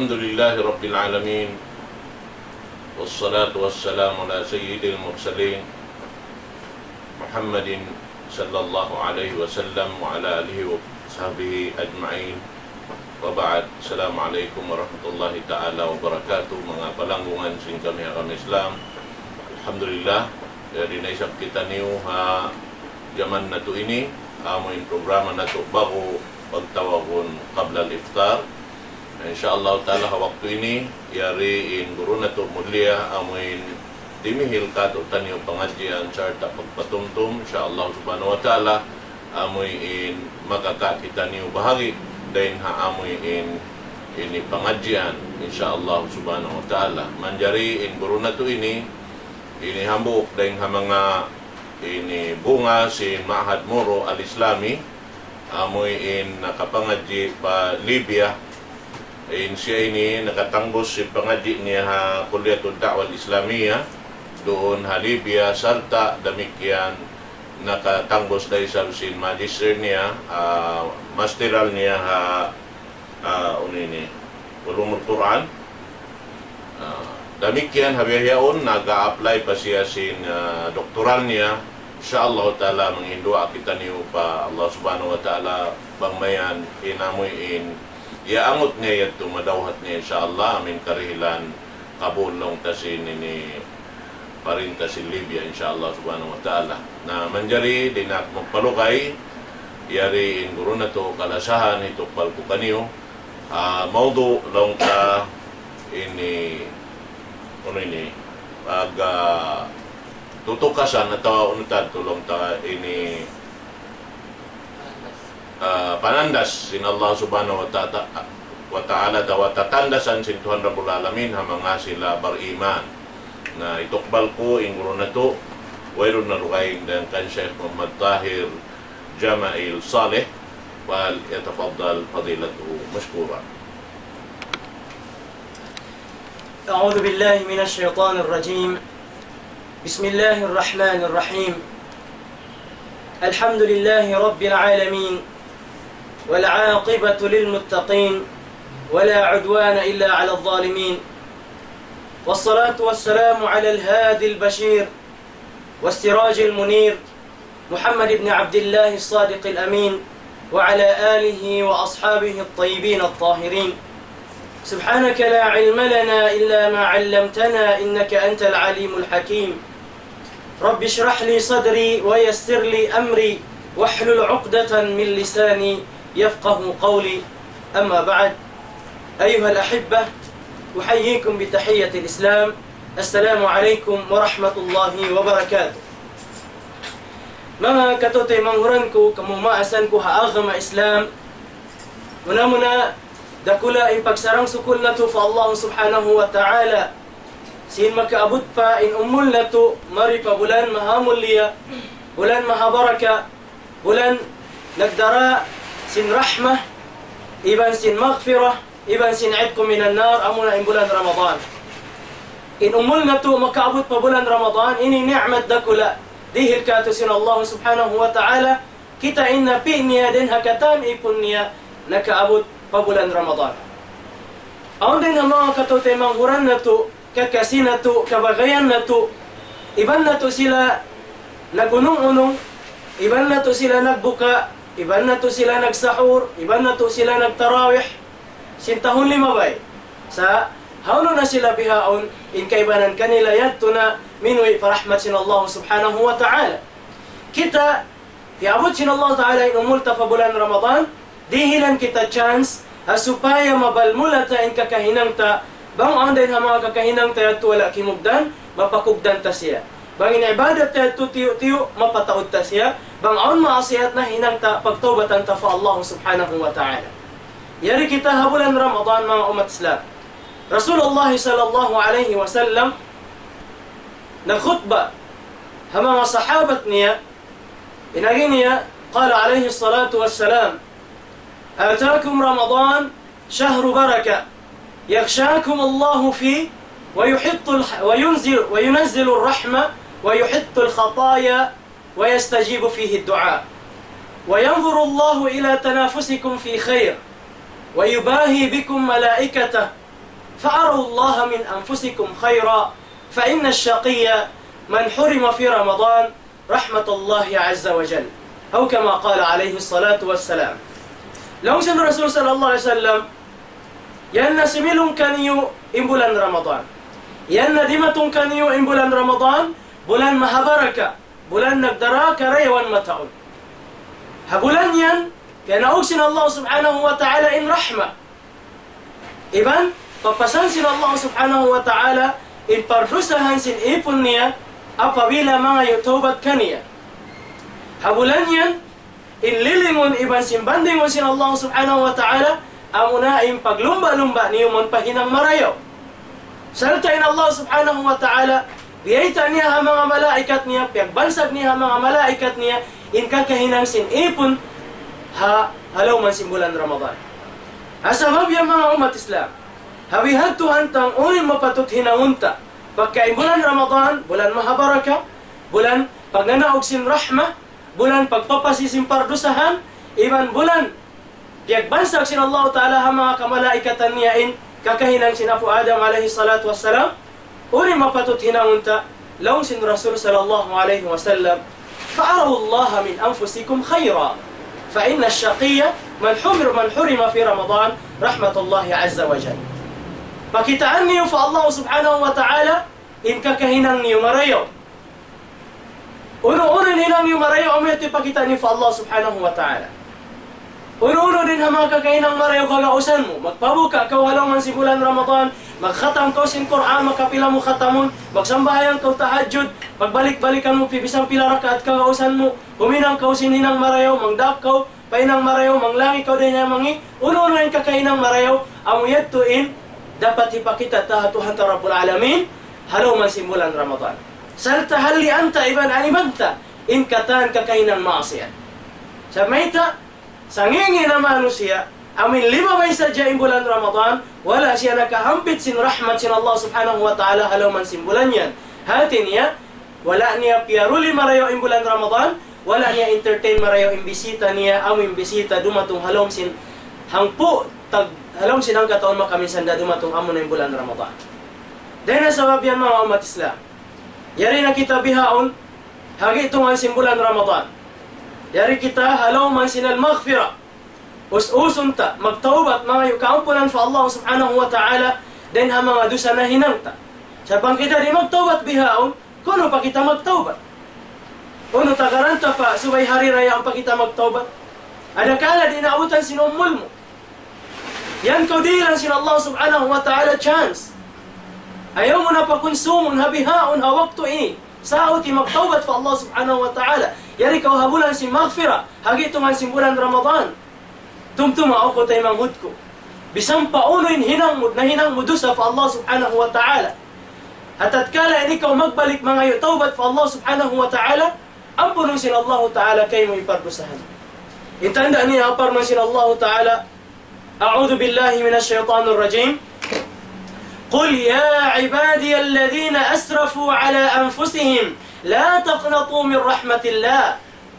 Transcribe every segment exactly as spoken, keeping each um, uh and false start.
الحمد لله رب العالمين، والصلاة والسلام على سيد المرسلين محمد صلى الله عليه وسلم وعلى آله وصحبه أجمعين. وبعد، السلام عليكم ورحمة الله تعالى وبركاته. Manga palanggungan sin kami ha agama Islam. Alhamdulillah, yari na isab kitaniyu ha jaman natu' ini, amu in programa natu' ba'gu pagtawagun qabla al-iftar. Insya Allah ta'ala ha waktu ini, yari in guru natu' mulia, amu in dimihil kātu'niyu pangadjian sarta' pagpatumtum, insya Allah subhanahu wa ta'ala, amu in makakawa' kitaniyu bahagi' dayn ha amu in ini pangadjian, insya Allah subhanahu wa ta'ala. Manjari in guru natu' ini, ini hambuuk dayn ha manga ini bunga sin Ma'had Moro Al-Islami, amu in nakapangadji' pa Libya. In siya ini nakatangbus sin pangadji' niya ha Kulliyatud Da'wah Al-Islamiyah duun ha Libya, sarta' damikkiyan nakatangbus da isab sin magister niya, ah, masteral niya ha, ah, unu ini, Ulumul Quran. Ah, damikkiyan ha bihaun, nag-a-apply pa siya sin, ah, doktoral niya. Insya Allah ta'ala, manghinduwaa kitaniyu pa Allah subhanahu wa ta'ala, bang mayan in amu in iyaangut niya yadtu, madawhat niya, insya Allah, amu in karihilan kabul laung ta sin ini parinta sin Libya, insya Allah subhanahu wa ta'ala. Na manjari, di' na aku magpalugay, yari in guru natu' kalasahan, hitukbal ku kaniyu, ah, mawdu' laung ta ini, unu ini, pag, ah, tutukasan atawa unu ta, laung ta ini, ah, panandas sin Allah subhanahu wa ta'ala, wa ta'ala, atawa tatandasan sin Tuhan Rabbul Alamin ha manga sila bariman. Na hitukbal ku in guru natu', wayruun na dugaing dayn kan Sheikh Muhammad Tahir Jama'il Saleh, فليتفضل فضيلته مشكورا. أعوذ بالله من الشيطان الرجيم. بسم الله الرحمن الرحيم. الحمد لله رب العالمين، والعاقبة للمتقين، ولا عدوان إلا على الظالمين، والصلاة والسلام على الهادي البشير والسراج المنير، محمد بن عبد الله الصادق الأمين، وعلى آله وأصحابه الطيبين الطاهرين. سبحانك لا علم لنا إلا ما علمتنا إنك أنت العليم الحكيم. رب اشرح لي صدري ويسر لي أمري واحلل عقدة من لساني يفقه قولي. أما بعد، أيها الأحبة، أحييكم بتحية الإسلام. السلام عليكم ورحمة الله وبركاته. Manga kataymanghuran ku, kamumaasan ku ha agama Islam, muna-muna, dakula' in pagsarang-sukul natu' pa Allah subhanahu wa ta'ala. Sin makaabut pa in umul natu', mari pa bulan mahamulliya, bulan mahabaraka, bulan nagdara sin rahmah, iban sin maghfirah, iban sin itqu minan nar, amuna in bulan Ramadan. In umul natu' makaabut pa bulan Ramadan, ini ni'mat dakula', dihil kātu' sin Allah subhanahu wa ta'ala, kita' in napi' niya dayn ha katan ipun niya nakaabut pa bulan Ramadan. Awn dayn ha manga kataymanghuran natu', kakasi natu', kabagayan natu', iban natu' sila nag-unung-unung, iban natu' sila nagbuka, iban natu' sila nagsahur, iban natu' sila nagtarawih, sin tahun limabay. Sa' hawnu na sila bihaun, in kaibanan kanila yadtu na minuwi' pa rahmat sin Allah subhanahu wa ta'ala. Kita', piyabut sin Allah Ta'ala in umul ta pa bulan Ramadan, dihilan kita chance, ha supaya mabalmula ta in kakahinang ta, bang awn dayn ha manga kakahinang ta yadtu wala' kimugdan, mapakugdan ta siya. Bang in ibadat ta yadtu tiyu'-tiyu', mapataud ta siya. Bang awn maasiyat nahinang ta, pagtawbatan ta pa Allah Subhanahu wa Ta'ala. Yari kita ha bulan Ramadan, manga ummat Islam. Rasulullah sallallahu alayhi wasallam nagkhutba ha manga sahabat niya, in agi niya, قال عليه الصلاة والسلام: أتاكم رمضان شهر بركة، يغشاكم الله فيه ويحط الح-، وينزل، وينزل الرحمة ويحط الخطايا ويستجيب فيه الدعاء، وينظر الله إلى تنافسكم في خير، ويباهي بكم ملائكته، فأروا الله من أنفسكم خيرا، فإن الشقي من حرم في رمضان رحمة الله عز وجل. أو كما قال عليه الصلاة والسلام. Laung sin Rasul sallallahu alayhi wasallam, yan na similung kaniyu in bulan Ramadan. Yan na dimatung kaniyu in bulan Ramadan, bulan mahabaraka, bulan nagdara karayawan mataud. Ha bulan yan, piyanaug sin Allah subhanahu wa ta'ala in rahma. Iban, papasan sin Allah subhanahu wa ta'ala in pardusahan sin ipun niya, apabila mangayu' tawbat kaniya. Ha bulan yan, in lilingun iban sin bandingun sin Allah subhanahu wa ta'ala, amuna in paglumba'-lumba' niyu mawn pa hinang marayaw. Sarta' in Allah subhanahu wa ta'ala, biyayta' niya ha manga malaikat niya, piyagbansag niya ha manga malaikat niya, in kakahinang sin ipun ha, ha lawm sin bulan Ramadan. Ha sabab yan manga ummat Islam, ha bihadtu hantang unu in mapatut hinangun ta. Pagka in bulan Ramadan, bulan mahabaraka, bulan pagnanaug sin rahma, bulan pagpapasi sin pardusahan, iban bulan piyagbansag sin Allah Ta'ala ha manga kamalaikatan niya in kakahinang sin Apu' Adam alayhi salatu wassalam, unu in mapatut hinangun ta, laung sin Rasul sallallahu alayhi wasallam, فأروا الله من أنفسكم خيرا، فإن الشقي من حرم، من حرم في رمضان رحمة الله عز وجل. Pakitaan niyu pa Allah subhanahu wa ta'ala in kakahinang niyu marayaw. Unu-unu in hinang niyu marayaw, amu yadtu in pakita' niyu pa Allah subhanahu wa ta'ala. Unu-unu in ha manga kakahinang marayaw kagausan mu. Magpabuka' kaw ha lawm sin bulan Ramadan, magkhatam kaw sin Qur'an, makapila mu khatamun, magsambahayang kaw tahajjud, pagbalik-balikan mu, pi-, bisan pila rakaat kagausan mu, huminang kaw sin hinang marayaw, mangdaak kaw, pa hinang marayaw, manglangi kaw dayn ha mangi', unu-unu in kakahinang marayaw, amu yadtu in dapat hipakita' ta ha Tuhan ta Rabbul Alamin, ha lawm sin bulan Ramadan. Sarta' hallian ta iban aniban ta in katan kakahinang maasiyat. Sa' mayta', sangī'-ngī' na manusiya', amu in limabay sadja in bulan Ramadan, wala' siya nakahampit sin rahmat sin Allah subhanahu wa ta'ala ha lawm sin bulan yan. Hāti niya, wala' niya piyaruli marayaw in bulan Ramadan, wala' niya entertain marayaw in bisita niya, amu in bisita dumatung ha lawm sin hangpu', tag-, ha lawm sin hangka tahun makaminsan da dumatung amuna in bulan Ramadan. Dayn ha sabab yan manga ummat Islam. Yari na kita bihaun, ha gi'tungan sin bulan Ramadan. Yari kita ha lawm sin al-maghfirah. Us-usun ta, magtawbat, mangayu' kaampunan pa Allah subhanahu wa ta'ala, dayn ha manga dusa nahinang ta. Sa' bang kita di' magtawbat bihaun, kunu' pa kita magtawbat? Unu, tagaran ta pa, subay hari ra yaun pa kita magtawbat? Adakala di' naabutan sin umul mu. Yan kaw dihilan sin Allah subhanahu wa ta'ala chance. Ayaw mu na pakunsumun ha bihaun ha waktu ini. Sauti magtawbat pa Allah subhanahu wa ta'ala. Yari kaw ha bulan sin maghfirah, ha gi'tungan sin bulan Ramadan. Tumtuma aku taymanghud ku. Bisan pa unu in hinang mu, nahinang mu dusa pa Allah subhanahu wa ta'ala. Ha tatkala ini kaw magbalik mangayu' tawbat pa Allah subhanahu wa ta'ala, ampunun sin Allah ta'ala kaymu in pardusahan. In tanda' niya parman sin Allah ta'ala, أعوذ بالله من الشيطان الرجيم. قل يا عبادي الذين أسرفوا على أنفسهم لا تقنطوا من رحمة الله.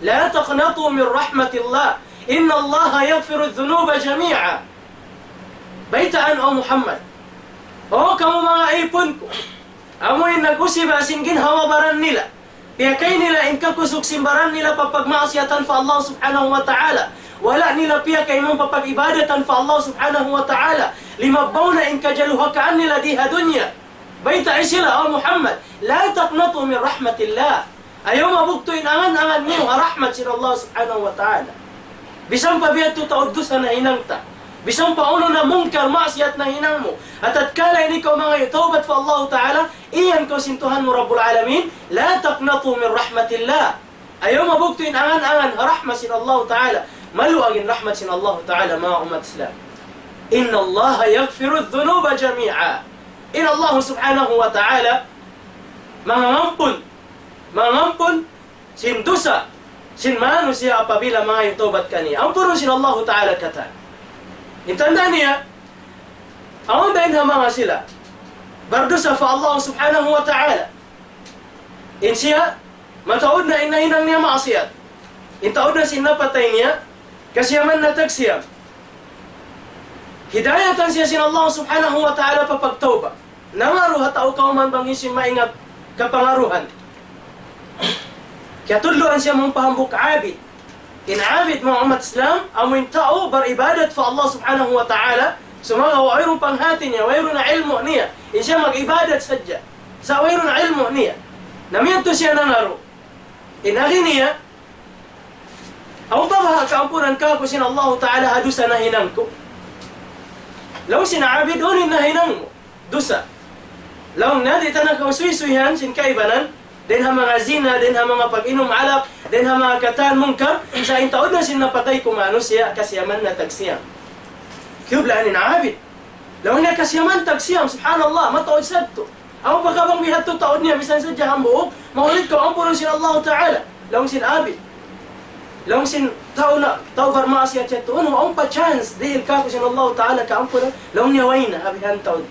لا تقنطوا من رحمة الله. إن الله يغفر الذنوب جميعا. Baytaan, O Muhammad. O kamu manga ipun ku. Amu in nag-usiba sin ginhawa-baran nila. Piyakay nila in kakusug sin baran nila pa pagmaasiyatan pa Allah subhanahu wa ta'ala. Wala' nila piyakay mawn pa pag-ibadatan pa Allah subhanahu wa ta'ala. Limabbaw na in kajaluhakaan nila di ha dunya. Baytai sila, O Muhammad, لا تقنطوا من رحمة الله. Ayaw mabugtu' in angan-angan niyu ha rahmat sin Allah subhanahu wa ta'ala. Bisan pa biya' tuud dusa nahinang ta. Bisan pa unu na mungkar maasiyat nahinang mu. Ha tatkala ini kaw mangayu' tawbat pa Allah ta'ala, iyan kaw sin Tuhan mu Rabbul Alamin, لا تقنطوا من رحمة الله. Ayaw mabugtu' in angan-angan ha rahmat sin Allah ta'ala. Maluag in rahmat sin Allah ta'ala, manga ummat Islam. إن الله يغفر الذنوب جميعا. In Allah subhanahu wa ta'ala, mangangampun, mangangampun sin dusa sin manusiya' apabila mangayu' tawbat kaniya. Ampunun sin Allahu ta'ala katan. In tanda' niya, awn da in ha manga sila bardusa pa Allah subhanahu wa ta'ala. In siya, mataud na in nahinang niya maasiyat. In taud na sin napatay niya, kasiyaman na tagsiyam. Hidayatan siya sin Allah subhanahu wa ta'ala pa pagtawbat. Nangaru ha tau kawman bang hisiyu in maingat kapangaruhan. Kiyatulluan siya mawn pa hambuuk abid. In abid, manga ummat Islam, amu in tau baribadat pa Allah subhanahu wa ta'ala, sumagawa' wayruun panghati niya, wayruun na ilmu' niya, in siya mag-ibadat sadja. Sa' wayruun na ilmu' niya. Na miyadtu siya nangaru. In agi niya, awn pa baha' kaampunan kāku' sin Allahu ta'ala ha dusa nahinang ku? Laung sin abid, unu in nahinang mu dusa? Laung niya, di' ta na kaw suysuyan sin kaibanan, dayn ha manga zina, dayn ha manga pag-inum alak, dayn ha manga katan mungkar, sa' in taud na sin napatay ku manusiya', kasiyaman na tagsiyam. Kiyublaan in abid. Laung niya, kasiyaman tagsiyam, subhanallah, mataud sadtu. Amu pa ka bang bihadtu taud niya, misan sadja hambuuk, mahuli kaw ampunun sin Allahu ta'ala. Laung sin abid. Laung sin tau na, tau barmaasiyat yadtu, unu, awn pa chance, dihil kāku' sin Allahu ta'ala kaampunan. Laung niya, way na, ha bihan taud.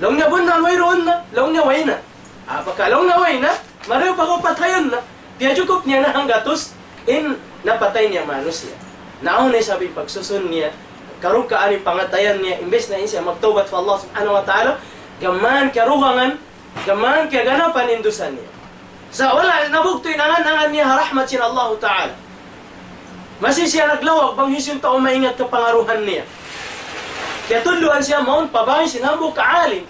Laung niya, bunnal, wayruun na. Laung niya, way na. Apakah laung niya, way na, marayaw pa kaw patayun na. Piyajukup niya na hanggatus in napatay niya manusiya'. Na awn na isab in pagsusun niya, karukaan in pangatayan niya, imbes na in siya magtawbat pa Allah subhanahu wa ta'ala, gām kiyarugangan, gām kiyaganapan in dusa niya. Sa' wala' nabugtu' in angan-angan niya ha rahmat sin Allahu ta'ala. Masi siya naglawag bang hisiyu in tau maingat kapangaruhan niya. Kiyatulluan siya mawn pa bāy sin hambuuk alim.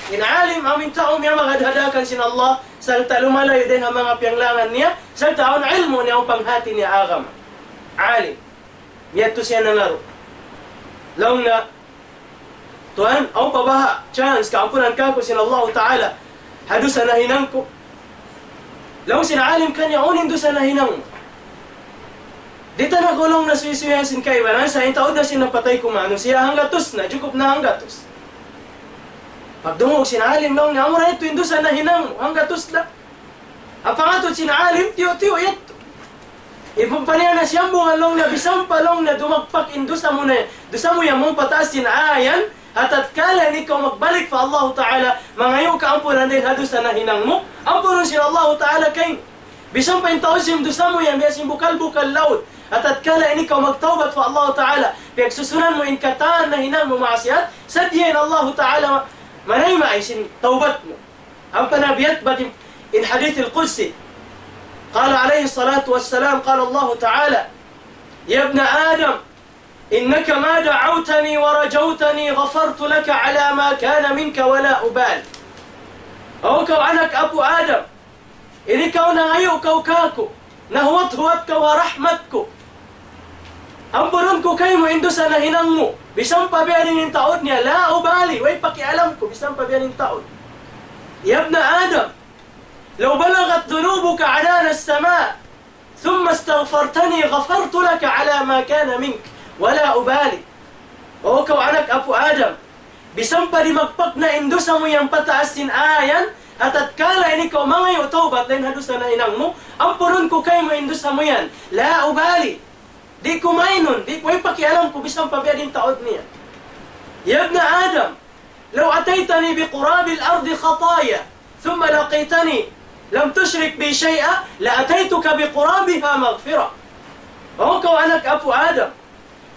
In alim, amu in tau miyamagad ha daakan sin Allah, sarta' lumalayu' dayn ha manga piyanglangan niya, sarta' awn ilmu' niya, awn panghati niya agama. Alim. Miyadtu siya nangaru. Laung niya, Tuan, awn pa baha' chance kaampunan kāku' sin Allahu ta'ala ha dusa nahinang ku? Laung sin alim kaniya, unu in dusa nahinang mu? Di' ta na kaw laung niya suysuyan sin kaibanan, sa' in taud na sin napatay ku manusiya', hanggatus na, jukup na hanggatus. Pagdungug sin alim, laung niya, amura yadtu in dusa nahinang mu, hanggatus na. Amu pangatud sin alim, tiyu'-tiyu' yadtu. Iban pa niya na siyambungan, laung niya, bisan pa, laung niya, dumagpak in dusa mu na, dusa mu yan mawn pataas sin ayan, ha tatkala in ikaw magbalik pa Allahu ta'ala, mangayu' kaampunan dayn ha dusa nahinang mu, ampunun sin Allahu ta'ala kaymu. Bisan pa in taud sin dusa mu yan, biya' sin bukal-bukal laud. Ha tatkala in ikaw magtawbat pa Allahu ta'ala, piyagsusunan mu in katan nahinang mu maasiyat, sadja in Allahu ta'ala manayma' sin tawbat mu. Ampa na biya' bat in, in hadith al-qudsi. قال عليه الصلاة والسلام، قال الله تعالى: يا ابن آدم، إنك ما دعوتني ورجوتني غفرت لك على ما كان منك ولا أبالي. O kaw anak apu' Adam, in ikaw nangayu' kaw kāku', nahuwat-huwat kaw ha rahmat ku. Ampunun ku kaymu in dusa nahinang mu, bisan pa biya' diin in taud niya, لا أبالي, way pakialam ku, bisan pa biya' diin in taud. يا ابن آدم، لو بلغت ذنوبك عنان السماء، ثم استغفرتني غفرت لك على ما كان منك ولا أبالي. O kaw anak apu' Adam, bisan pa dimagpak na in dusa mu yan pataas sin ayan, ha tatkala in ikaw mangayu' tawbat dayn ha dusa nahinang mu, ampunun ku kaymu in dusa mu yan. لا أبالي. Di' ku mainun, di' ku, way pakialam ku bisan pa biya' diin in taud niya. يا ابن آدم، لو أتيتني بقراب الأرض خطايا ثم لقيتني لم تشرك بي شيئا لأتيتك بقرابها مغفرة. O kaw anak apu' Adam,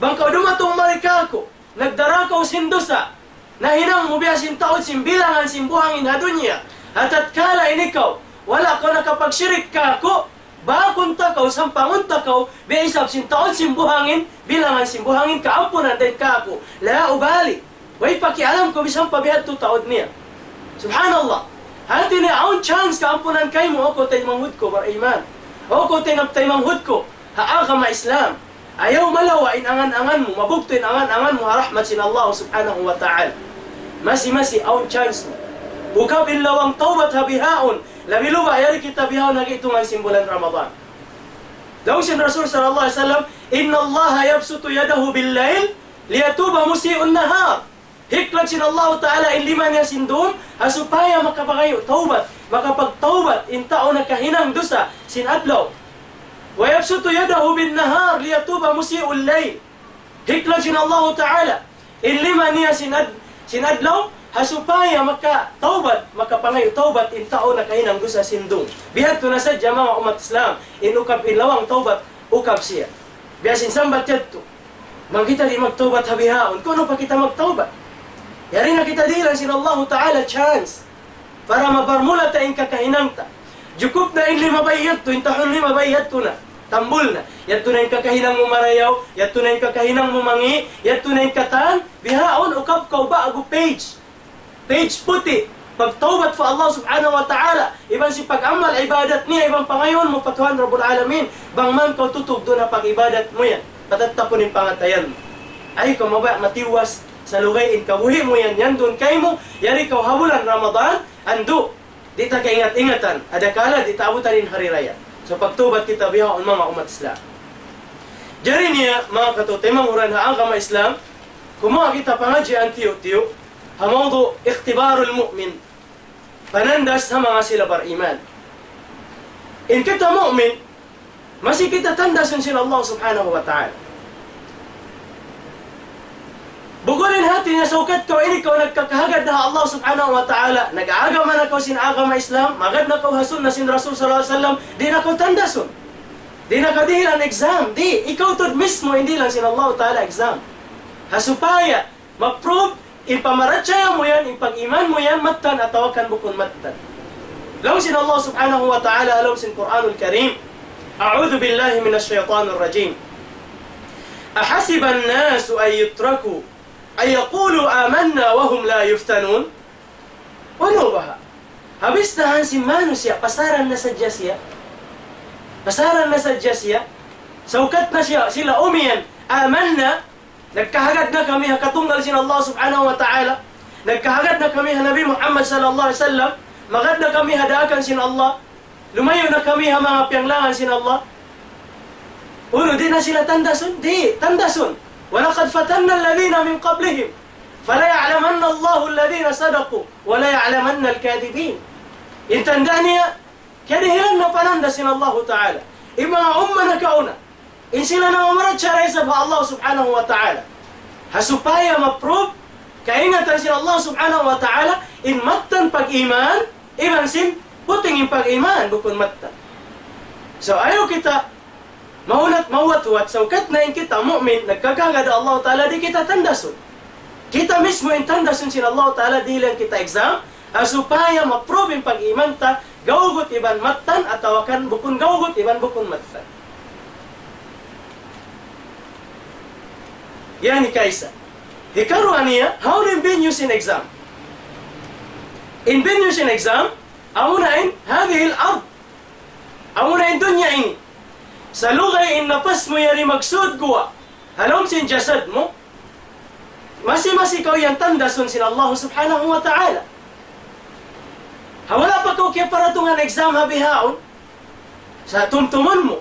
bang kaw dumatung mari kāku', nagdara kaw sin dusa nahinang mu biya' sin taud sin bilangan sin buhangin ha dunya. Ha tatkala in ikaw, wala' kaw nakapagshirik kāku', bākun ta kaw, sampangun ta kaw, biya' isab sin taud sin buhangin, bilangan sin buhangin, kaampunan dayn kāku'. لا أبالي. Way pakialam ku bisan pa bihadtu taud niya. Subhanallah. Hāti niya awn chance kaampunan kaymu, o kaw taymanghud ku bar-iman. O kaw tay-, taymanghud ku ha agama Islam. Ayaw malawa' in angan-angan mu, mabugtu' in angan-angan mu ha rahmat sin Allah subhanahu wa ta'ala. Masi-masi awn chance mu. Ukab in lawang tawbat ha bihaun, labi-labi yari kita bihaun ha gi'tungan sin bulan Ramadan. Laung sin Rasul sallallahu alayhi wasallam, إن الله يبسط يده بالليل ليتوب مسيء النهار. Hiklat sin Allahu Ta'ala in lima niya sin dum, ha supaya makapangayu' tawbat, makapagtawbat in tau nakahinang dusa sin adlaw. ويبسط يده بالنهار ليتوب مسيء الليل. Hiklat sin Allahu Ta'ala in lima niya sin ad-, sin adlaw, ha supaya makatawbat, makapangayu' tawbat in tau nakahinang dusa sin dum. Bihadtu na sadja manga ummat Islam, in ukab in lawang tawbat, ukab siya. Biya' sin sambat yadtu. Bang kita di' magtawbat ha bihaun, kunu' pa kita magtawbat? Yari na kita dihilan sin Allahu Ta'ala chance para maparmula ta in kakahinang ta. Jukup na in limabay yadtu, in tahun limabay yadtu na. Tambul na. Yadtu na in kakahinang mu marayaw, yadtu na in kakahinang mu mangi', yadtu na in katan, bihaun ukab kaw ba'gu page. Page puti', pagtawbat pa Allah Subhanahu wa Ta'ala, iban sin pag-amal ibadat niya, iban pangayuun mu pa Tuhan Rabbul Alamin, bang man kaw tutug duun ha pag-ibadat mu yan, patattapun in pangatayan mu. Ayaw kaw mabaya' matiwas, salugay in kabuhi' mu yan, yan duun kaymu, yari kaw ha bulan Ramadan, andu', di' ta kaingat-ingatan, adakala di' ta abutan in hari raya. So, pagtawbat kita bihaun manga ummat Islam. Jari niya, manga kataymanghuran ha agama Islam, kumuha kita pangadjian tiyu'-tiyu', ha mawdu' اختبار المؤمن. Panandas ha manga sila bariman. In kita mu'min, masi kita tandasun sin Allah Subhanahu wa Ta'ala. Bukun in hati niya saukat kaw ini kaw nagkakahagad na ha Allah Subhanahu wa Ta'ala, nag-agama na kaw sin agama Islam, magad na kaw ha sunna sin Rasul sallallahu alayhi wasallam, di' na kaw tandasun. Di' na kaw dihilan exam, di', ikaw tuud mismu in dihilan sin Allah Ta'ala exam. Ha supaya ma-prove in pamarachaya mu yan, in pag-iman mu yan, mattan atawa kan bukun mattan. Laung sin Allah Subhanahu wa Ta'ala, laung sin Qur'anul Karim, أعوذ بالله من الشيطان الرجيم. أحسب الناس أن يتركوا أن يقولوا آمنا وهم لا يفتنون. Unu baha'? Habis na hansi manusiya', pasaran na sadja siya. Pasaran na sadja siya. Saukat na siya, sila umiyan, amanna, nagkahagad na kami ha katunggal sin Allah Subhanahu wa Ta'ala. Nagkahagad na kami ha Nabi Muhammad sallallahu alayhi wasallam. Magad na kami ha daakan sin Allah. Lumayu' na kami ha manga piyanglangan sin Allah. Unu, di' na sila tandasun? Di', tandasun. ولقد فتنا الذين من قبلهم فليعلمن الله الذين صدقوا وليعلمن الكاذبين. In tanda' niya, kiyadihilan na panandas sin Allahu Ta'ala in manga umma nakauna. In sila namamarachaya isab ha Allah Subhanahu wa Ta'ala. Ha supaya ma-prove kaingatan sin Allah Subhanahu wa Ta'ala, in mattan pag-iman, iban sin puting in pag-iman, bukun mattan. So, ayaw kita mahunat mahuwat-huwat, saukat na in kita mu'min, nagkakahagad ha Allah Ta'ala, di' kita tandasun. Kita mismu in tandasun sin Allah Ta'ala, dihilan kita exam, ha supaya ma-prove in pag-iman ta, gawgut iban mattan, atawa kan bukun gawgut iban bukun mattan. Yan hikaisa. Hikaruwa niya, hawnu in venue sin exam? In venue sin exam, amuna in هذه الأرض. Amuna in dunya ini. Salugay in napas mu yari magsud guwa' ha lawm sin jasad mu, masi-masi kaw yan tandasun sin Allah Subhanahu wa Ta'ala. Ha wala' pa kaw kiyaparatungan exam ha bihaun, sa' tumtumun mu.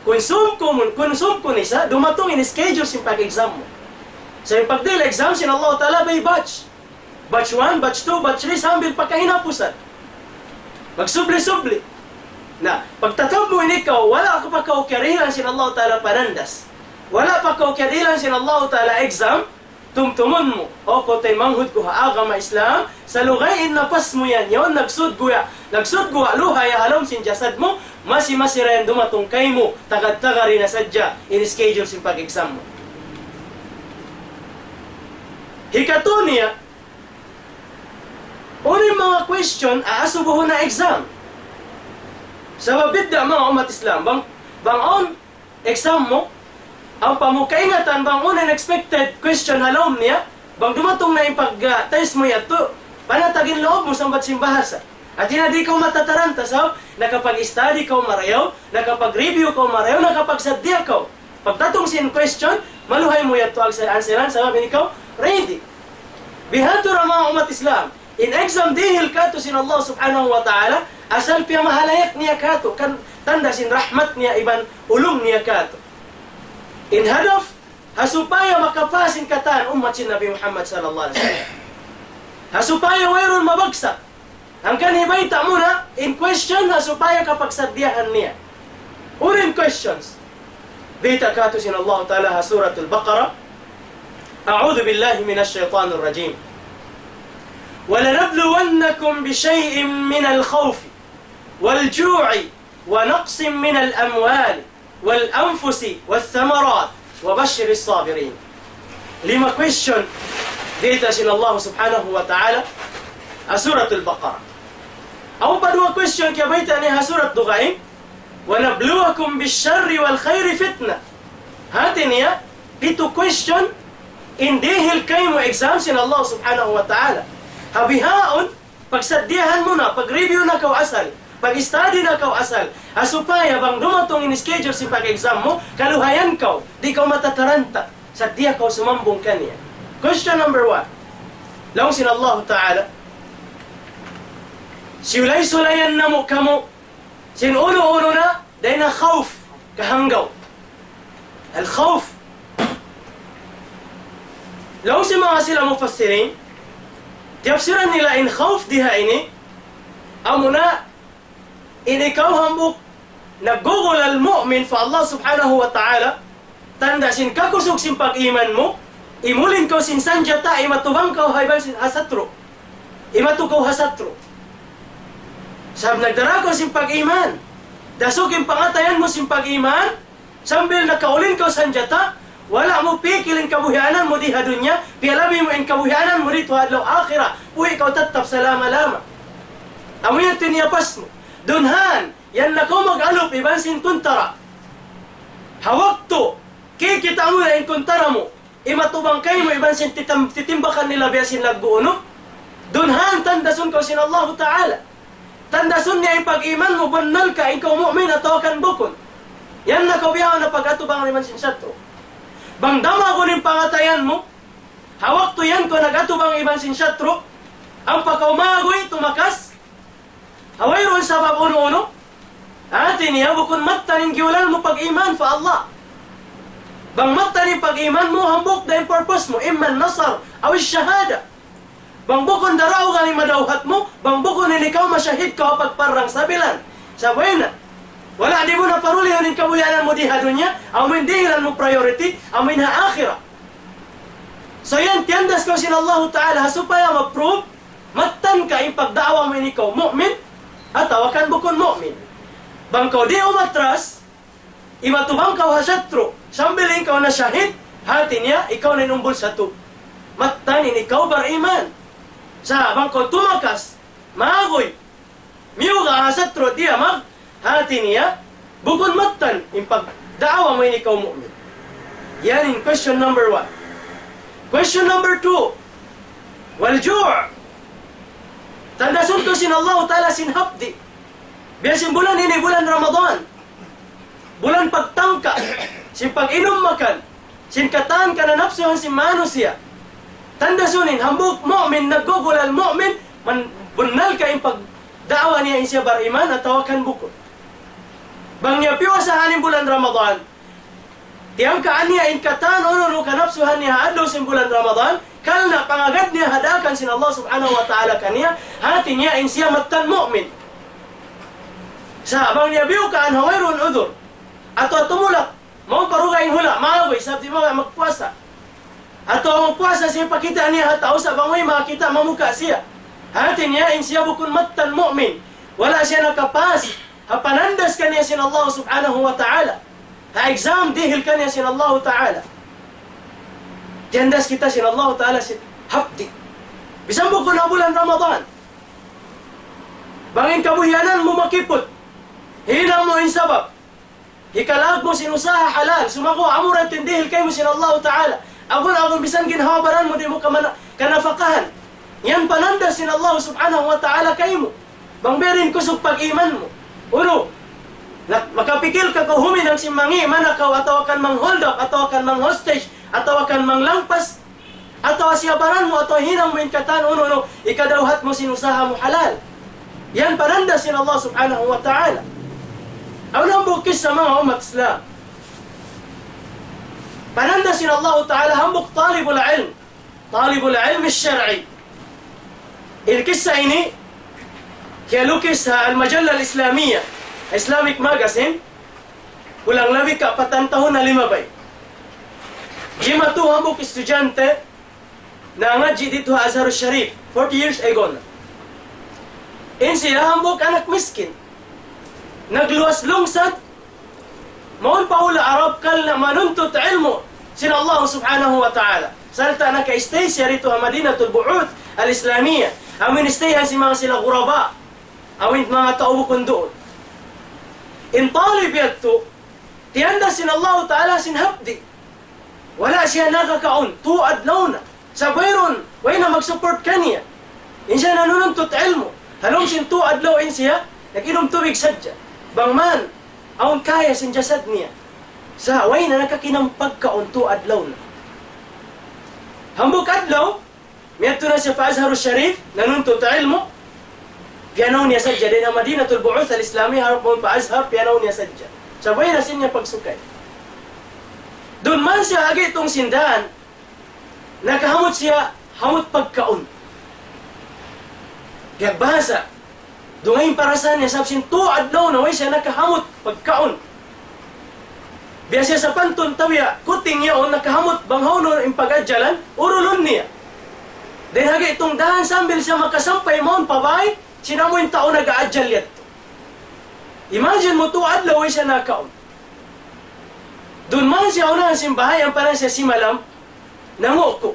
Kun sumkun, kun sumkun isa, dumatung in schedule sin pag-exam mu. Sa' in pagdihil exam sin Allah Ta'ala by batch. Batch one, batch two, batch three, sambil pa kahinapusan. Magsubli-subli. Na, pagtatab mu ini kaw, wala' pa kaw kiyarihilan sin Allah Ta'ala panandas. Wala' pa kaw kiyarihilan sin Allah Ta'ala exam, tumtumun mu. O kaw taymanghud ku ha agama Islam, salugay in napas mu yan, yaun nagsud guwa', nagsud guwa' luha ya ha lawm sin jasad mu, masi-masi ra yan dumatung kaymu, tagad-tagad na sadja, in schedule sin pag-exam mu. Hikatu niya, unu in manga question, aasubuhun na exam. Sabab bidda' manga ummat Islam, bang, bang awn exam mu, ampa mu kaingatan bang unu in expected question ha lawm niya, bang dumatung na in pag, ah, test mu yadtu, panatag in lawm mu sambat sin bahasa. Hati niya di' kaw matataranta, sabab nakapag-study kaw marayaw, nakapag-review kaw marayaw, nakapagsaddiya kaw. Pagdatung sin question, maluhay mu yadtu ang answeran, sabab in ikaw ready. Bihadtu ra manga ummat Islam, in exam dihil katu' sin Allah Subhanahu wa Ta'ala, asal piyamahalayak niya katu', kan tanda' sin rahmat niya iban ulung niya katu'. In hadaf, ha supaya makapas in katan ummat sin Nabi Muhammad sallallahu alayhi wasallam. Ha supaya wayruun mabagsak. Hangkan hibayta' mu na in question ha supaya kapagsaddiyahan niya. Unu in questions? Bayta' katu' sin Allah Ta'ala ha Suratul Baqarah. أعوذ بالله من الشيطان الرجيم. ولنبلونكم بشيء من الخوف والجوع ونقص من الأموال والأنفس والثمرات وبشر الصابرين. Lima question diyata sin Allah subhanahu wa ta'ala ha Suratul Baqarah. Awn pa duwa question kiyabayta' niya ha surat dugaing, ونبلوكم بالشر والخير فتنة. Hati niya, pitu question in dihil kaymu exam sin Allah subhanahu wa ta'ala. Ha bihaun, pagsadiyahan mu na, pag-review na kaw asal, pag-study na kaw asal, ha supaya bang dumatung in schedule sin pag-exam mu, kaluhayan kaw, di' kaw matataranta, sadiya kaw sumambung kaniya. Question number one. Laung sin Allah ta'ala, siyulay-sulayan namu' kamu, sin unu-unu na, dayn ha khawf, kahanggaw. Al-khawf. Laung sin manga sila mufassirin, tiyapsiran nila in khawf di ha ini, amuna in ikaw hambuuk naggugulal mu'min pa Allah subhanahu wa ta'ala, tanda' sin kakusug sin pag-iman mu, imulin kaw sin sanjata, imatubang kaw ha iban sin ha satru'. Imatu kaw ha satru'. Sabab nagdara kaw sin pag-iman. Dasuk in pangatayan mu sin pag-iman, sambil nakaulin kaw sanjata, wala' mu pikil in kabuhianan mu di ha dunya, piyalabi mu in kabuhianan mu didtu ha adlaw akhirat, buhi' kaw tattap salama-lama. Amu yan tiniyapas mu. Dunhan, yan na kaw mag-alup iban sin kuntara. Ha waktu kikita' mu na in kuntara mu, imatubang kaymu iban sin titam-, titimbakan nila biya' sin laggu' unu. Dunhan tandasun kaw sin Allahu ta'ala. Tandasun niya in pag-iman mu, bunnal ka, ikaw mu'min atawa kan bukun. Yan na kaw bihaun na pag-atubang iban sin satru'. Bang damagun in pangatayan mu, ha waktu yan kaw nag-atubang iban sin satru', ampa kaw maguy tumakas, ha wayruun sabab unu-unu, hati niya bukun mattan in giyulal mu pag-iman pa Allah. Bang mattan in pag-iman mu, hambuuk da in purpose mu, imma nasar, aw shahada. Bang bukun daraugan in madawhat mu, bang bukun in ikaw mashahid kaw ha pagparrang sabilan. Sa' way na. Wala' di' mu na parulihun in kabuhianan mu di ha dunya, amu in dihilan mu priority, amu in ha akhirat. So yan, tiyandas kaw sin Allahu ta'ala, ha supaya ma-prove, mattan ka in pagda'wa mu ini kaw mu'min, atawa kan bukun mu'min. Bang kaw di' umatras, imatubang kaw ha satru', sambil in kaw na shahid, hati niya, ikaw na in umbul satu. Mattan in ikaw bar-iman. Sa' bang kaw tumakas, maguy, miyuga' ha satru' diya mag, hati niya, bukun mattan in pagda'wa mu ini kaw mu'min. Yan in question number one. Question number two, والجوع. Tandasun kaw sin Allahu ta'ala sin hapdi'. Biya' sin bulan ini bulan Ramadan. Bulan pagtangka, sin pag-inum makan, sin katan kananapsuhan sin manusiya'. Tandasun in hambuuk mu'min, naggugulal mu'min, man bunnal ka in pagda'wa niya in siya bar-iman atawa kan bukun. Bang niya piyuasahan in bulan Ramadan, tiyangkaan niya in katan unu-unu kanapsuhan niya ha adlaw sin bulan Ramadan, karna' pangagad niya ha daakan sin Allah subhanahu wa ta'ala kaniya, hati niya in siya mattan mu'min. Sa' bang niya biyukaan ha wayruun udhur, atawa tumulak, mawn pa dugaing hula', maguy, sabab di' mabaya' magpuasa. Atawa magpuasa siya, pakita' niya ha tau, sa' bang way makakita', mamuka' siya. Hati niya, in siya bukun mattan mu'min. Wala' siya nakapas ha panandas kaniya sin Allah subhanahu wa ta'ala. Ha exam, dihil kaniya sin Allah ta'ala. Tiyandas kita sin Allah ta'ala sin hapdi'. Bisan bukun ha bulan Ramadan. Bang in kabuhianan mu makiput, hinang mu in sabab. Hikalag mu sin usaha halal, sumaku amu ra in dihil kaymu sin Allah ta'ala. Agun-agun bisan ginhawa-baran mu di' mu kamana-, kanapakahan. Yan panandas sin Allah subhanahu wa ta'ala kaymu. Bang biya' diin kusug pag-iman mu. Unu, na-, makapikil ka kaw huminang sin mangi', manakaw, atawa kan mang-hold up, atawa kan mang-hostage, atawa kan manglangpas, atawa siyabaran mu, atawa hinang mu in katan unu-unu, hikadawhat mu sin usaha mu halal. Yan panandas sin Allah subhanahu wa ta'ala. Awn hambuuk kissa manga ummat Islam. Panandas sin Allah ta'ala hambuuk talibul ilm. Talibul ilm shar'i. In kissa ini, kiyalukis ha Al-Majalla Al-Islamiyya, Islamic magazine, kulang labi kapatan tahun na limabay. Jimatu hambuuk estudyante, nangadji' didtu ha Azhar Sharif, forty years ago na. In siya hambuuk anak miskin. Nagluwas lungsad, mawn pa hula' Arab karna' manuntut ilmu', sin Allah subhanahu wa ta'ala. Sarta' naka-stay siya didtu ha Madinatul Bu'uth al-Islamiyah. Amu in stay-han sin manga sila ghuraba. Amu in manga tau bukun duun. In Talib yadtu, tiyanda' sin Allah ta'ala sin hapdi'. Wala' siya nakakaun, tū adlaw na. Sa' wayruun, way na mag-support kaniya. In siya nanununtut ilmu'. Ha lawm sin tū adlaw in siya, nag-inum tubig sadja. Bang man, awn kaya sin jasad niya. Sa' way na nakakinam pagkaun, tū adlaw na. Hambuuk adlaw, miyadtu na siya pa Azharus Sharif, nanuntut ilmu'. Piyanaw niya sadja, dayn ha Madinatul Bu'uth al-Islami, harap mawn pa Azhar, piyanaw niya sadja. Sa' way na sin niya pagsukay. Duun man siya ha gi'tung sin dān, nakahamut siya, hamut pagkaun. Piyagbahasa, dugaing parasahan niya, sabab sin tū adlaw na way siya nakahamut pagkaun. Biya' siya sapantun tau ya, kuting yaun nakahamut bang hawnu in pag-adjalan, urulun niya. Dayn ha gi'tung dān sambil siya makasampay mawn pa bāy, sin amu in tau nag-aadjal yadtu. Imagine mu, tū adlaw way siya nakaun. Duun man siya unahan sin bāy, ampa na siya simalam, nanguku'.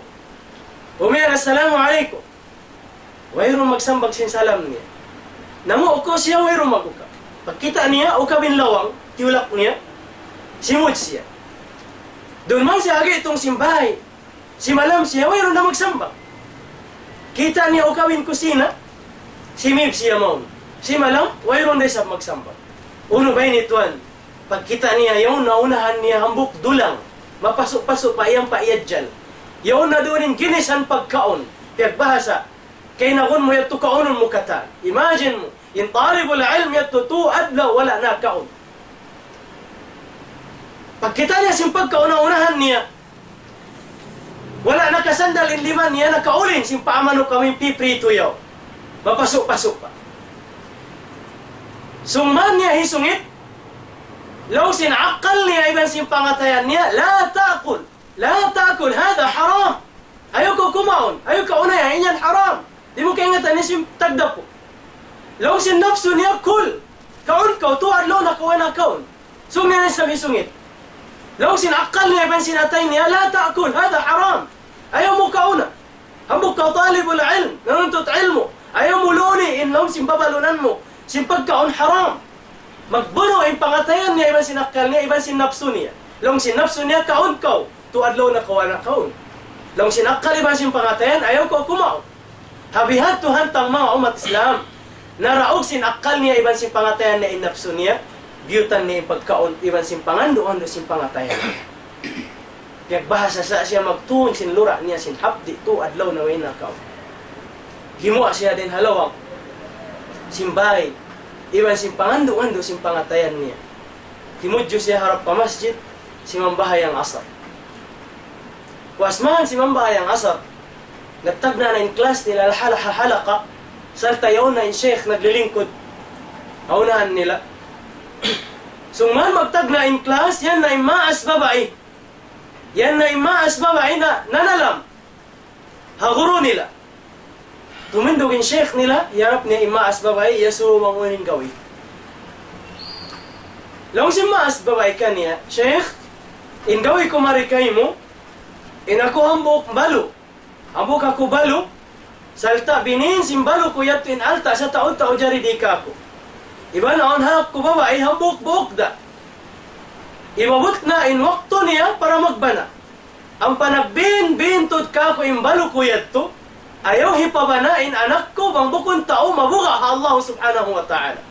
Umiyan, "Assalamu alaykum." Wayruun magsambag sin salam niya. Nanguku' siya, wayruun mag-ukab. Pagkita' niya, ukab in lawang, tiyulak niya, simud siya. Duun man siya ha gi'tung sin bāy. Simalam siya, wayruun na magsambag. Kita' niya ukab in kusina, simīp siya mawn. Simalam, wayruun da isab magsambag. Unu ba ini, tuwan? Pagkita' niya, yaun na unahan niya hambuuk dulang. Mapasu'-pasu' pa, iyan pa iyadjal. Yaun na duun in ginisan pagkaun. Piyagbahasa, kaynagun mu yadtu, kaunun mu katan. Imagine mu, in talibul ilm yadtu tū adlaw wala' nakaun. Pagkita' niya sin pagkaun ha unahan niya, wala' nakasandal in lima niya, nakaulin sin paa manuk amu in pipritu yaun. Mapasu'-pasu' pa. Sung man niya hisungit, laung sin akal niya iban sin pangatayan niya, "لا تأكل، لا تأكل، هذا حرام." Ayaw kaw kumaun, ayaw kaw unayan, in yan haram. Di' mu kaingatan in sin tagdapu. Laung sin napsu niya, "كل." Kaun kaw, tū adlaw na kaw wala' nakaun. Sung niya isab hisungit. Laung sin akal niya iban sin atay niya, "لا تأكل، هذا حرام." Ayaw mu kauna. Hambuuk kaw talibul ilm, nanuntut ilmu'. Ayaw mu luni in laung sin babalunan mu sin pagkaun haram. Magbunu' in pangatayan niya iban sin akal niya iban sin napsu niya. Laung sin napsu niya, "Kaun kaw, tū adlaw na kaw wala' nakaun." Laung sin akal iban sin pangatayan, "Ayaw kaw kumaun." Ha bihadtu hantang manga ummat Islam, naraug sin akal niya iban sin pangatayan niya in napsu niya, biyutan niya in pagkaun iban sin pangandu'-andu' sin pangatayan. Piyagbahasa sa' siya magtuun sin lura' niya sin hapdi', tū adlaw na way nakaun. Gimuwa' siya dayn ha lawang sin bāy, iban sin pangandu'-andu' sin pangatayan niya. Timudju siya harap pa masjid, simambahayang asar. Puas mayan simambahayang asar, nagtagna' na in class nila ha hal-, ha halaqa, sarta' yaun na in sheikh naglilingkud ha unahan nila. Sung man magtagna' in class, yan na in maas babai. Yan na in maas babai na nanalam ha guru nila. Tumindug in sheikh nila, hiyarap niya in maas babai, iyasubu bang unu in gawi. Laung sin maas babai kaniya, "Sheikh, in gawi ku mari kaymu, in aku hambuuk balu. Hambuuk aku balu, sarta' binin sin balu ku yadtu in alta' sataud-taud jari di' kāku'. Iban awn ha anak ku babai hambuuk buuk da. Imaabut na in waktu niya para magbana. Ampa nagbin-bin tuud kāku' in balu ku yadtu, ayaw hipabana in anak ku bang bukun tau mabuga' ha Allah subhanahu wa ta'ala.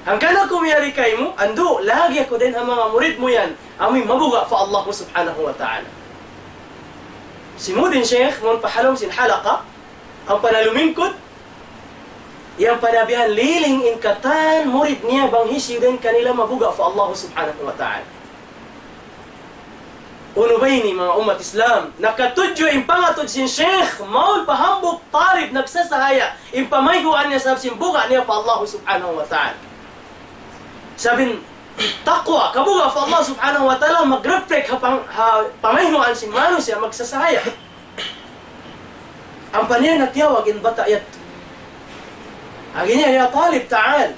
Hangkan aku miyari kaymu, andu', lagi' aku dayn ha manga murid mu yan, amu in mabuga' pa Allah subhanahu wa ta'ala." Simud in sheikh mawn pa halawm sin halaqa, ampa na lumingkud, yan pa na bihan liling in katan murid niya bang hisiyu dayn kanila mabuga' pa Allah subhanahu wa ta'ala. Unu ba ini, manga ummat Islam? Nakatudju in pangatud sin sheikh, mawn pa hambuuk talib nagsasahaya, in pamayhuan niya sabab sin buga' niya pa Allah subhanahu wa ta'ala. Sabab in taqwa, kabuga' pa Allah subhanahu wa ta'ala, mag-reflect ha pang-, ha pamayhuan sin manusiya' magsasahaya. Ampa niya na tiyawag in bata' yadtu. Agi niya, "Ya talib, ta'al."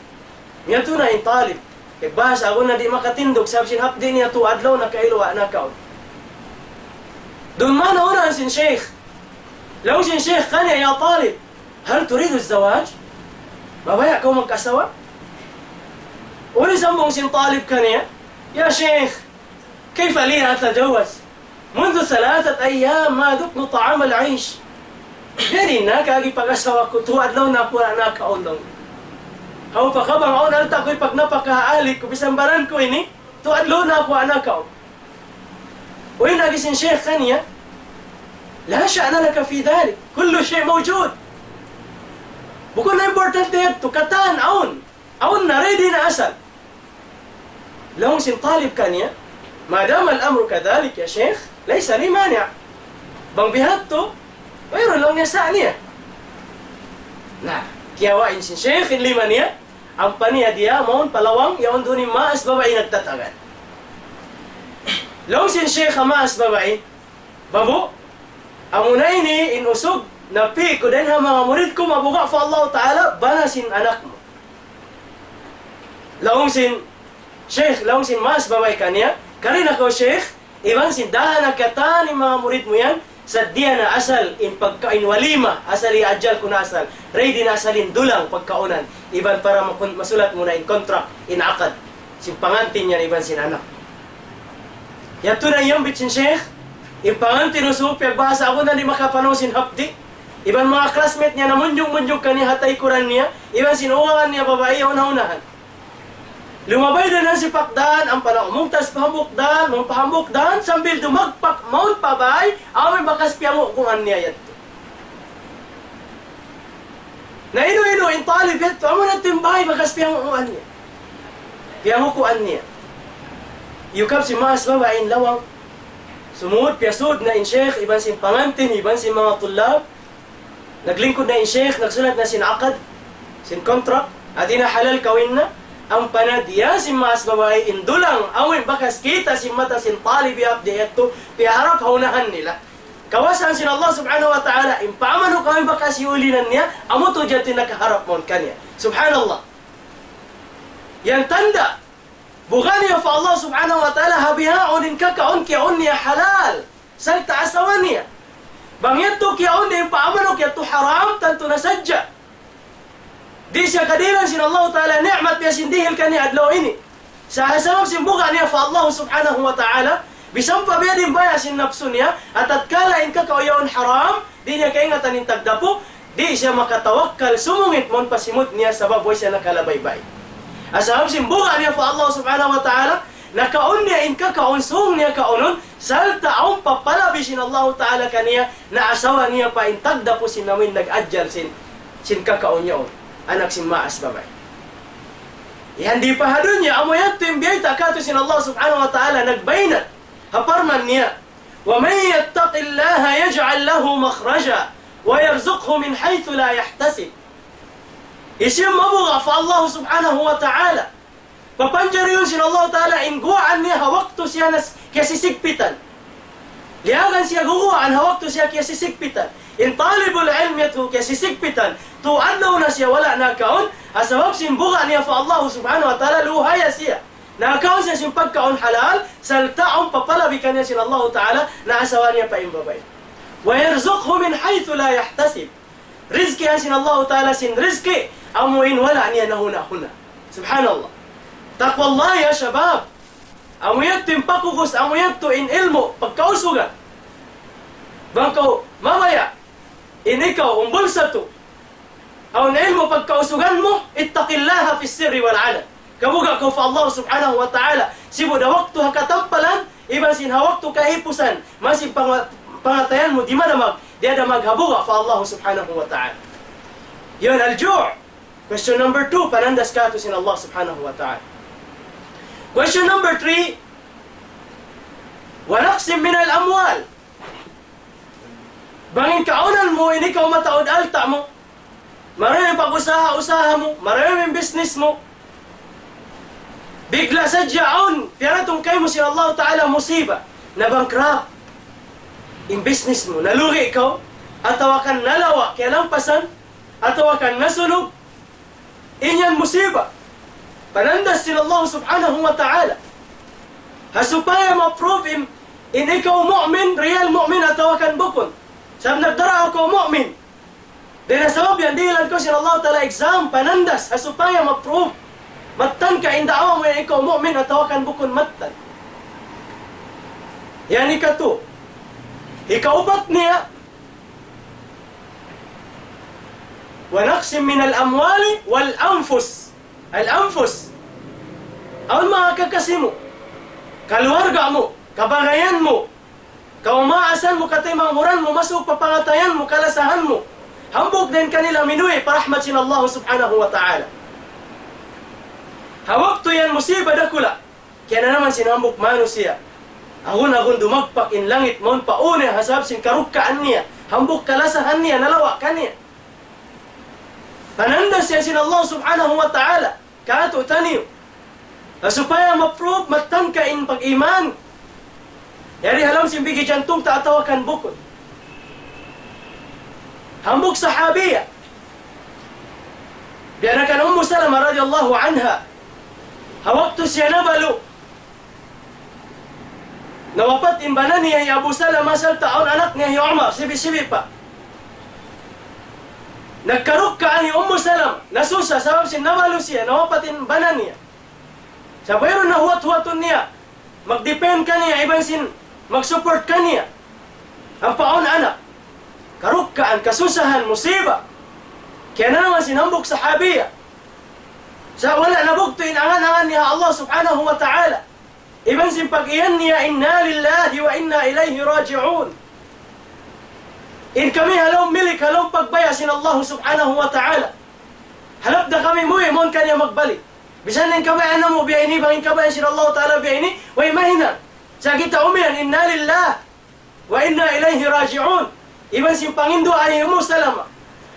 Miyadtu na in talib. Piyagbahasa, agun na di' makatindug, sabab sin hapdi' niya tū adlaw na kailu wala' nakaun. Duun mayan na unu in sin sheikh. Laung sin sheikh kaniya, يا طالب، هل تريد الزواج؟ Mabaya' kaw magkasawa? Unu in sambung sin talib kaniya, يا شيخ، كيف لي أتزوج؟ منذ ثلاثة أيام ما ذقت طعام العيش. Biya' diin na kagi pag-asawa ku, tū adlaw na aku wala' nakaun. Hawnu pa ka bang awn alta' ku ipagnapaka ha ali ku, bisan baran ku ini, tū adlaw na aku wala' nakaun. Uy, laung sin sheikh kaniya, لا شأن لك في ذلك، كل شيء موجود. Bukun na importante yadtu, katan awn. Awn na, ready na asal. Laung sin talib kaniya, ما دام الأمر كذلك يا شيخ، ليس لي مانع. Bang bihadtu, wayruun, laung niya, sa' niya. Na, kiyawa' in sin sheikh in lima niya, ampa niya diya mawn pa lawang, yaun duun in maas babai nagtatagad. Laung sin sheikh ha maas babai, babu, amuna ini in usug napi' ku dayn ha manga murid ku, mabuga' pa Allah Ta'ala, bana sin anak mu. Laung sin sheikh, laung sin maas babai kaniya, kari na kaw sheikh, iban sin dahan na katan in manga murid mu yan, saddiya na asal in pagkaun walima, asal iyajal ku na asal, ready na asal in dulang pagkaunan, iban para makun-, masulat mu na in contract, in akad, sin pangantin yan, iban sin anak. Yadtu na in yambit sin sheikh, in pangantin usug, piyagbahasa aku na di' makapanaw sin hapdi', iban manga classmate niya namunjung-munjung kaniya ha taykuran niya, iban sin uwagan niya babai, yaun ha unahan. Lumabay da na sipak dan, ampa na umungtas pa hambuuk dan, mawn pa hambuuk dan, sambil dumagpak mawn pa bay, amu in bakas piyangukuan niya yadtu. Na inu-inu in talib yadtu, amu na yadtu in bay bakas piyangukuan niya. Piyangukuan niya. Iyukab sin maas babai in lawang. Sumud, piyasud na in sheikh, iban sin pangantin, iban sin manga tulab. Naglingkud na in sheikh, nagsulat na sin akad, sin contract, hāti na halal kawin na, ampa na diya sin maas babai in dulang, amu in bakas kita' sin mata sin talib yadtu, piyaharap ha unahan nila. Kawasaan sin Allah Subhanahu wa Ta'ala, in pamanukan bakas iyulinan niya, amu tuud yadtu in nakaharap mawn kaniya. Subhanallah. Yan tanda', buga' niya pa Allah Subhanahu wa Ta'ala, ha bihaun in kakaun kiyaun niya halal. Sarta' asawa niya. Bang yadtu kiyaun niya in pamanukan yadtu haram, tantu na sadja. Di' siya kadihilan sin Allah Ta'ala ni'mat biya' sin dihil kaniya adlaw ini. Sa' ha sabab sin buga' niya pa Allah Subhanahu wa Ta'ala, bisan pa biya' diin baya' sin napsu niya, ha tatkala in kakaun yaun haram, di' niya kaingatan in tagdapu, di' siya makatawakkal sumungit mawn pa simud niya sabab way siya nakalabaybay. Ha sabab sin buga' niya pa Allah Subhanahu wa Ta'ala, nakaun niya in kakaun sung niya kaunun, sarta' awn papalabi sin Allah Ta'ala kaniya, na asawa niya pa in tagdapu sin amuin nag-ajal sin, sin kakaun yaun, anak sin maas babai. Yan di' pa ha dunya, amu yadtu in biyayta' katu' sin Allah Subhanahu wa Ta'ala, nagbaynat ha parman niya, ومن يتق الله يجعل له مخرجا ويرزقه من حيث لا يحتسب. Hisiyu in mabuga' pa Allah Subhanahu wa Ta'ala, papanjariun sin Allah Ta'ala in guwaan niya ha waktu siya nas-, kiyasisigpitan. Liyagan siya guwaan ha waktu siya kiyasisigpitan. In talibul ilm yadtu kiyasisigpitan, tū adlaw na siya wala' nakaun, ha sabab sin buga' niya pa Allah Subhanahu wa Ta'ala, luhaya siya. Nakaun siya sin pagkaun halal, sarta' awn papalabi kaniya sin Allah Ta'ala, na asawa niya pa in babai. ويرزقه من حيث لا يحتسب. Rizkihan sin Allah Ta'ala sin rizki, amu in wala' niya nahuna-huna. Subhanallah. تقوى الله يا شباب. Amu yadtu in pakukus, amu yadtu in ilmu', pagkausugan. Bang kaw mabaya', in ikaw, umbul satu, awn ilmu' pagkausugan mu, اتق الله في السر والعلن. Kabuga' kaw pa Allah Subhanahu wa Ta'ala. Sibu' da waktu ha katampalan, iban sin ha waktu kahipusan, masi panga-, pangatayan mu, di' madamag, di' adamag ha buga' pa Allah Subhanahu wa Ta'ala. Yan, الجوع. Question number two, panandas katu' sin Allah Subhanahu wa Ta'ala. Question number three, ونقص من الأموال. Bang in kaunan mu, in ikaw mataud alta' mu, maraymi in pag-usaha-usaha mu, maraymi in business mu. Bigla sadja awn, piyaratung kaymu sin Allah Ta'ala musiba, na-bankrupt in business mu, nalugi kaw, atawa kan nalawa', kiyalampasan, atawa kan nasunog, in yan musiba. Panandas sin Allah Subhanahu wa Ta'ala. Ha supaya ma-prove in, In ikaw mu'min, real mu'min atawa kan bukun. Sabab nagdara kaw mu'min. Dayn ha sabab yan, dihilan kaw sin Allah Ta'ala exam, panandas, ha supaya ma-prove. Mattan ka in da'wa mu yan ikaw mu'min atawa kan bukun mattan. Yan ikatu. Ikaupat niya, ونقص من الأموال والأنفس. Al-anfus. Awn manga kakasi mu, kaluwarga mu, kabagayan mu, kaumaasan mu, katimanghud mu, masu' pa pangatayan mu, kalasahan mu. Hambuuk dayn kanila minuwi' pa rahmat sin Allah subhanahu wa ta'ala. Ha waktu yan musiba dakula'. Kiyananaman sin hambuuk manusiya'. Agun-agun dumagpak in langit mawn pa unu ha sabab sin karukkaan niya. Hambuuk kalasahan niya, nalawa' kaniya. Panandas yan sin Allah subhanahu wa ta'ala. Katu' taniyu. Na supaya ma-prove mattan ka in pag-iman. Yari ha lawm sin bigi jantung ta atawa kan bukun. Hambuuk sahabiya. Biya' na kan Ummu Salama radiyallahu anha. Ha waktu siya nabalu'. Nawapat in bana niya hi Abu Salama sarta' awn anak niya hi Umar, sibi'-sibi' pa. Nagkarukkaan hi Ummu Salama, nasusa sabab sin nabalu' siya, nawapat in bana niya. Sa' wayruun na huwat-huwatun niya, mag-depend kaniya, iban sin mag-support kaniya. Ampa awn anak, karukkaan, kasusahan, musiba. Kiyananaman sin hambuuk sahabiya. Sa' wala' nabugtu' in angan-angan niya ha Allah subhanahu wa ta'ala. Iban sin pag-iyan niya, إنا لله وإنا إليه راجعون. In kami ha lawm milik, ha lawm pagbaya' sin Allah subhanahu wa ta'ala. Halap da kami muwi', mawn kaniya magbalik. Bisan in kabayaan namu' biya' ini, bang in kabayaan sin Allah ta'ala biya' ini, way mahinang. Sa' kita umiyan, إنا لله وإنا إليه راجعون. Iban sin panginduwaa hi Ummu Salama,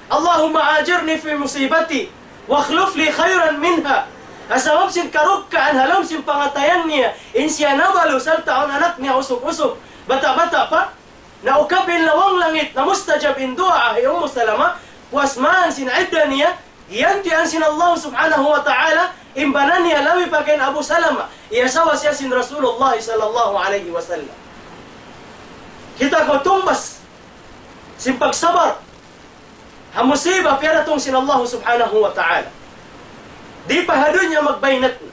اللهم أجرني في مصيبتي وأخلف لي خيرا منها. Ha sabab sin karukkaan ha lawm sin pangatayan niya, in siya nabalu' sarta' awn anak niya usug-usug, bata'-bata' pa, naukab in lawang langit, namustajab in duwaa hi Ummu Salama, puas man sin idda niya, giyantian sin Allah subhanahu wa ta'ala, in bana niya labi pa kan Abu Salama, iyasawa siya sin Rasulullah sallallahu alayhi wasallam. Kita' kaw tungbas sin pagsabar ha musiba piyaratung sin Allah subhanahu wa ta'ala. Di' pa ha dunya magbaynat na.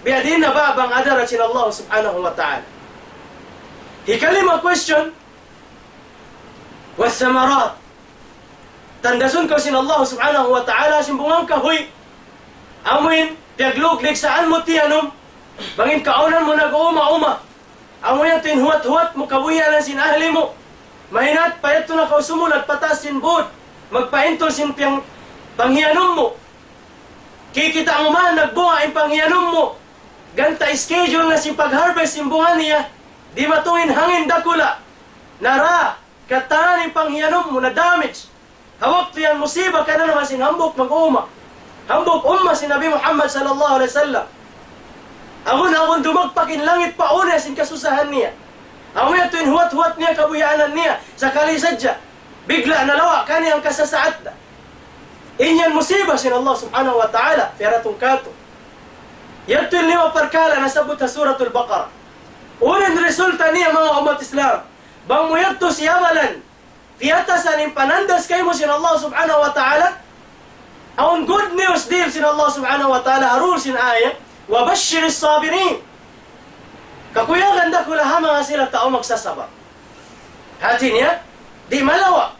Biya' diin na ba bang adarat sin Allah subhanahu wa ta'ala. Hikalima question, والثمرات. Tandasun kaw sin Allah subhanahu wa ta'ala sin bunga kahuy. Amuin, piyagluglig saan mu tiyanum. Bang in kaunan mu nag-uuma-uma. Amu yadtu in huwat-huwat mu, kabuhianan sin ahli mu. Mahinat pa yadtu na kaw sumulat pataas sin būd. Magpaintul sin piyang-, panghiyanum mu. Kikita' mu man nagbunga in panghiyanum mu. Ganta' schedule na sin pag-harvest sin bunga niya. Dimatung in hangin dakula'. Nara, katan in panghiyanum mu, na-damage. Ha waktu yan musiba, kiyananaman sin hambuuk mag-umma. Hambuuk umma sin Nabi Muhammad sallallahu alayhi wasallam. Agun-agun dumagpak in langit pa unu sin kasusahan niya. Amu yadtu in huwat-huwat niya, kabuhianan niya. Sakali sadja, bigla' nalawa' kaniya in kasasaat da. In yan musiba sin Allah subhanahu wa ta'ala, piyaratung katu'. Yadtu in lima parkala' nasabbut ha Suratul Baqarah. Unu in resulta niya, manga ummat Islam? Bang mu yadtu siyabalan, piyatasan in panandas kaymu sin Allah subhanahu wa ta'ala, awn good news dihil sin Allah subhanahu wa ta'ala, ha duun sin ayat, وبشر الصابرين. Kakuyagan dakula' ha manga sila tau magsasabar. Hati niya, di' malawa'.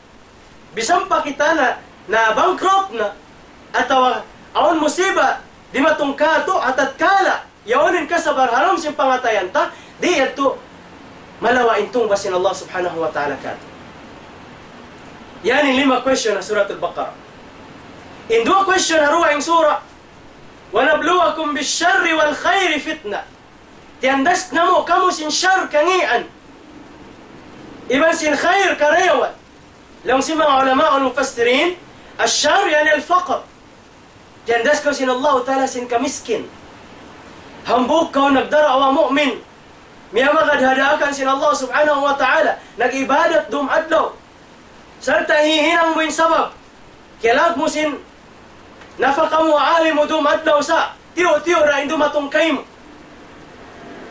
Bisan pa kita na, na-bankrupt na, atawa awn musiba, dimatung katu', ha tatkala yaun in kasabar ha lawm sin pangatayan ta, di' yadtu malawa' in tungbas sin Allah subhanahu wa ta'ala katu'. Yan in lima question ha Suratul Baqarah. In duwa question ha dugaing surah, ونبلوكم بالشر والخير فتنة. Tiyandas namu' kamu sin shar kangīan, iban sin khair karayawan. Laung sin manga ulama wal mufassirin, الشر يعني الفقر. Tiyandas kaw sin Allah ta'ala sin kamiskin. Hambuuk kaw nagdarawa mu'min. Miyamagad ha daakan sin Allah subhanahu wa ta'ala. Nag-ibadat dum adlaw. Sarta' hihinang mu in sabab. Kiyalag mu sin nafaka mu, alim mu dum adlaw sa'. Tiyu'-tiyu' ra in dumatung kaymu.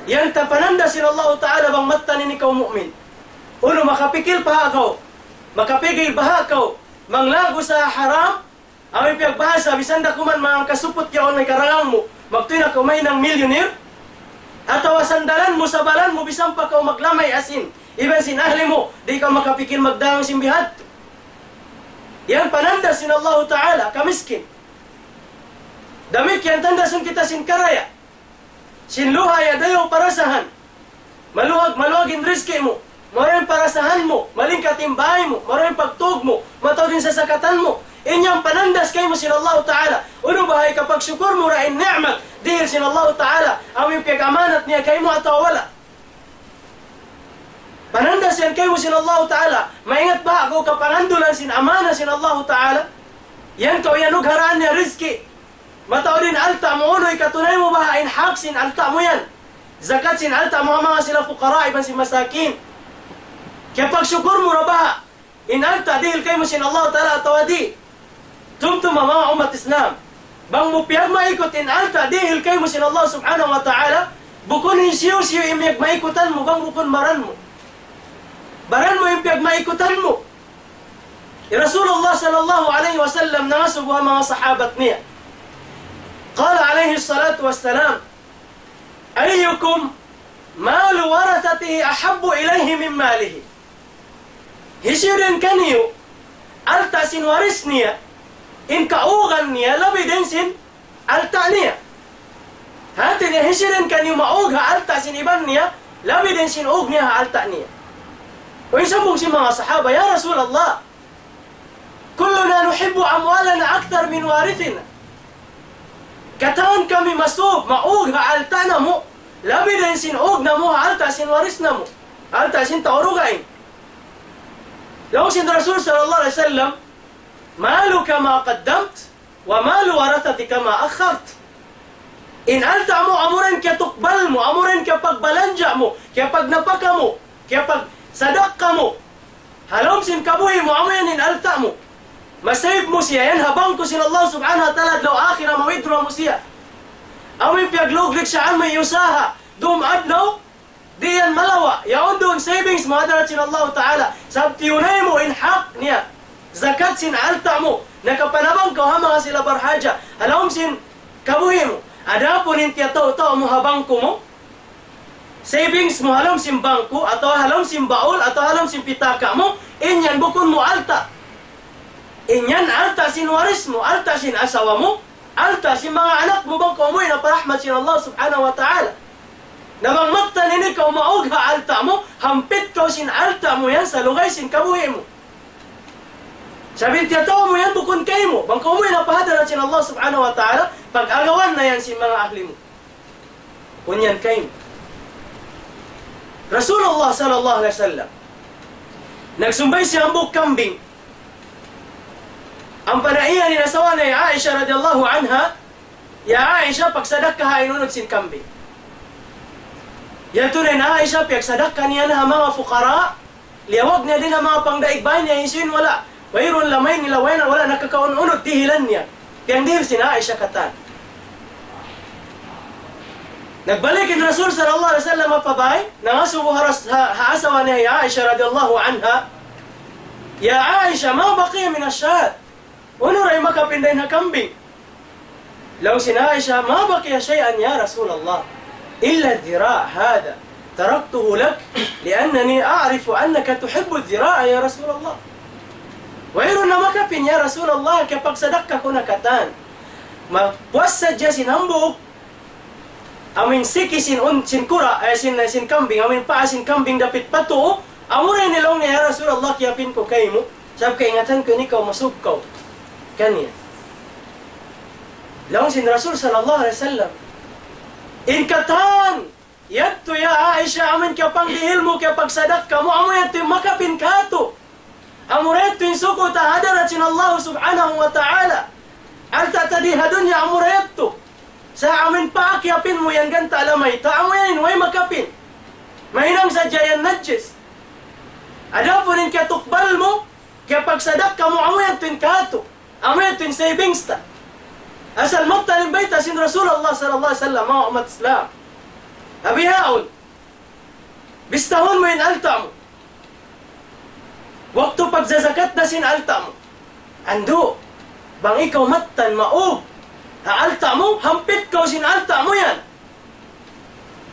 Yan ta pananda sin Allahu Ta'ala bang mattan ini kaw mu'min. Unu makapikil pa kaw, makapikil baha' kaw, manglaggu' sa haram, amu in piyagbahasa, bisan da kuman manga kasuput yaun na hikarangang mu, magtuy na kaw mahinang milyuner, atawa sandalan mu, sabalan mu, bisan pa kaw maglamay asin, iban sin ahli mu, di' kaw makapikil magdagang sin bihadtu. Yan pananda sin Allahu Ta'ala, kamiskin. Damikkiyan tandasun kita sin karaya'. Sin luha' ya dayaw parasahan. Maluwag, maluwag in rizki mu. Maru in parasahan mu. Malingkat in bāy mu. Maru in pagtūg mu. Mataud in sasakatan mu. In yan panandas kaymu sin Allahu Ta'ala. Unu baha' hikapagsukur mu ra in ni'mat dihil sin Allahu Ta'ala. Amu in piyag-amanat niya kaymu atawa wala'. Panandas yan kaymu sin Allahu Ta'ala. Maingat baha' kaw kapangandulan sin amana sin Allahu Ta'ala. Yan kaw iyanugharaan niya rizki. Mataud in alta' mu, unu hikatunay mu baha' in hak sin alta' mu yan. Zakat sin alta' mu ha manga sila fuqara iban sin masakin. Kiyapagsukur mu ra baha' in alta' dihil kaymu sin Allahu Ta'ala atawa di'. Tumtuma manga ummat Islam. Bang mu piyagmaikut in alta' dihil kaymu sin Allah Subhanahu wa Ta'ala, bukun in hisiyu-siyu in piyagmaikutan mu, bang bukun baran mu. Baran mu in piyagmaikutan mu. Hi Rasulullah sallallahu alayhi wasallam nangasubu ha manga sahabat niya. قال عليه الصلاة والسلام: أيكم مال ورثته أحب إليه من ماله؟ Hisiyu dayn kaniyu, alta' sin waris niya, in kaugan niya, labi dayn sin alta' niya. Hāti niya, hisiyu dayn kaniyu maug ha alta' sin iban niya, labi dayn sin ug niya ha alta' niya. Uy, sambung sin manga sahaba, "Ya Rasulullah, كلنا نحب أموالنا أكثر من وارثنا." Katan kami masub, maug ha alta' namu', labi dayn sin ug namu' ha alta' sin waris namu', alta' sin tau dugaing. Laung sin Rasul sallallahu alayhi wasallam, مالك ما قدمت ومال ورثتك ما أخرت. In alta' mu, amura in kiyatukbal mu, amura in kiyapagbalanja' mu, kiyapagnapaka mu, kiyapagsadakka mu. Ha lawm sin kabuhi' mu, amu yan in alta' mu. Ma-save mu siya, yan ha bangko sin Allah Subhanahu wa Ta'ala, adlaw akhirat, ma-withdraw mu siya. Amu in piyagluglik siya, amu in usaha, dum adlaw, di' yan malawa', yaun duun savings mu ha hadarat sin Allah Ta'ala. Sabab tiyunay mu in hak niya. Zakat sin alta' mu, nakapanabang kaw ha manga sila barhaja, ha lawm sin kabuhi' mu. Adapun in tiyatau-tau mu ha bangko mu, savings mu ha lawm sin bangko, atawa ha lawm sin baul, atawa ha lawm sin pitaka' mu, in yan bukun mu alta'. In yan alta' sin waris mu, alta' sin asawa mu, alta' sin manga anak mu bang kaw umuwi' na pa rahmat sin Allah Subhanahu wa Ta'ala. Na bang mattan ini kaw maug ha alta' mu, hampit kaw sin alta' mu yan sa lugay sin kabuhi' mu. Sabab in tiyatau mu yan bukun kaymu, bang kaw umuwi' na pa hadarat sin Allah Subhanahu wa Ta'ala, pag-agawan na yan sin manga ahli mu. Kunyan kaymu. Rasulullah sallallahu alayhi wasallam, nagsumbay siya hambuuk kambing. Ampa na iyan in asawa niya hi Aisha radiyallahu anha, "Ya Aisha, pagsadakkaha in unud sin kambing." Yadtu na in Aisha, piyagsadakka niya na ha manga fuqara, liyawag niya dayn ha manga pangdaig bay niya, hisiyu in wala'. Wayruun lamay nila, wala', wala' nakakaun-unud, dihilan niya. Piyagdihil sin Aisha katan. Nagbalik in Rasul sallallahu alayhi wasallam pa bay, nangasubu ha ras-, ha, ha asawa niya hi Aisha radiyallahu anha, "Ya Aisha, ما بقي من الشاة؟" Unu ra in makapin dayn ha kambing? Laung sin Aisha, "ما بقي شيئا يا رسول الله، إلا الذراع هذا، تركته لك لأني أعرف أنك تحب الذراع يا رسول الله." Wayruun na makapin, ya Rasulullah, kiyapagsadakka ku na katan. Mapuas sadja sin hambuuk amu in siki sin un-, sin kura', eh, sin, sin kambing, amu in paa sin kambing dapit pa tuu, amura ini laung niya, "Ya Rasulullah, kiyapin ku kaymu, sabab kaingatan ku in ikaw masub kaw kaniya." Laung sin Rasul sallallahu alayhi wasallam, "In katan, yadtu ya Aisha, amu in kiyapangdihil mu, kiyapagsadakka mu, amu yadtu in makapin katu'." Amura yadtu in suku' ta ha hadarat sin Allah Subhanahu wa Ta'ala. Alta' ta di ha dunya amura yadtu. Sa' amu in paa kiyapin mu yan ganta' lamay ta, amu yan in way makapin. Mahinang sadja yan najis. Adapun in kiyatukbal mu, kiyapagsadakka mu, amu yadtu in katu'. Amu yadtu in savings ta. Asal mattan in bayta' sin Rasulullah sallallahu alayhi wasallam, manga ummat Islam. Bihaun, bistahun mu in alta' mu. Waktu pagzazakat na sin alta' mu. Andu', bang ikaw mattan maug ha alta' mu, hampit kaw sin alta' mu yan.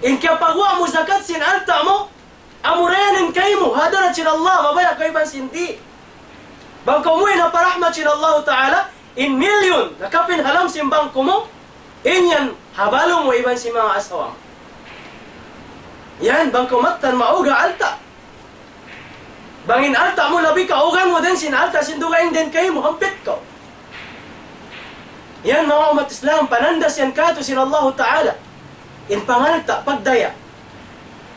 In kiyapaguwa' mu zakat sin alta' mu, amura yan in kaymu, ha hadarat sin Allah, mabaya' kaw iban sin di'. Bang kaw muwi' na pa rahmat sin Allah Ta'ala, in milyon, nakapin ha lawm sin bangku mu, in yan, ha balu' mu iban sin manga asawa mu. Yan, bang kaw mattan maug ha alta'. Bang in alta' mu labi kaugan mu dayn sin alta' sin dugaing dayn kaymu, hampit kaw. Yan, manga ummat Islam, panandas yan katu' sin Allahu Ta'ala. In pangalta', pagdaya.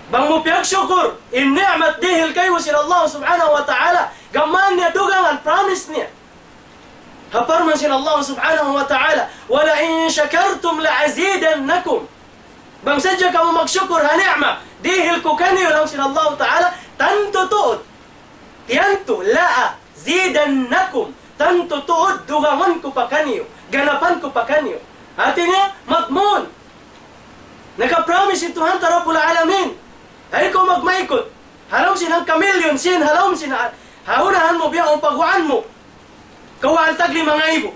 Bang mu piyagsukur in ni'mat dihil kaymu sin Allah Subhanahu wa Ta'ala, gām niya dugangan, promise niya. Ha parman sin Allah Subhanahu wa Ta'ala, وَلَئِن شَكَرْتُمْ لَأَزِيدَنَّكُمْ. Bang sadja kamu magsukur ha ni'mat dihil ku kaniyu, laung sin Allah Ta'ala, tantu tuud. Tiyantu, لَأَزِيدَنَّكُمْ. Tantu tuud dugangun ku pa kaniyu, ganapan ku pa kaniyu. Hāti niya, madmun. Nakapromise in Tuhan ta Rabbul Alamin. Ay kaw magmaikut. Ha lawm sin hangka milyon sin, ha lawm sin ha, ha unahan mu, biya' ha paguwaan mu. Kawhaan tag lima ngaibu.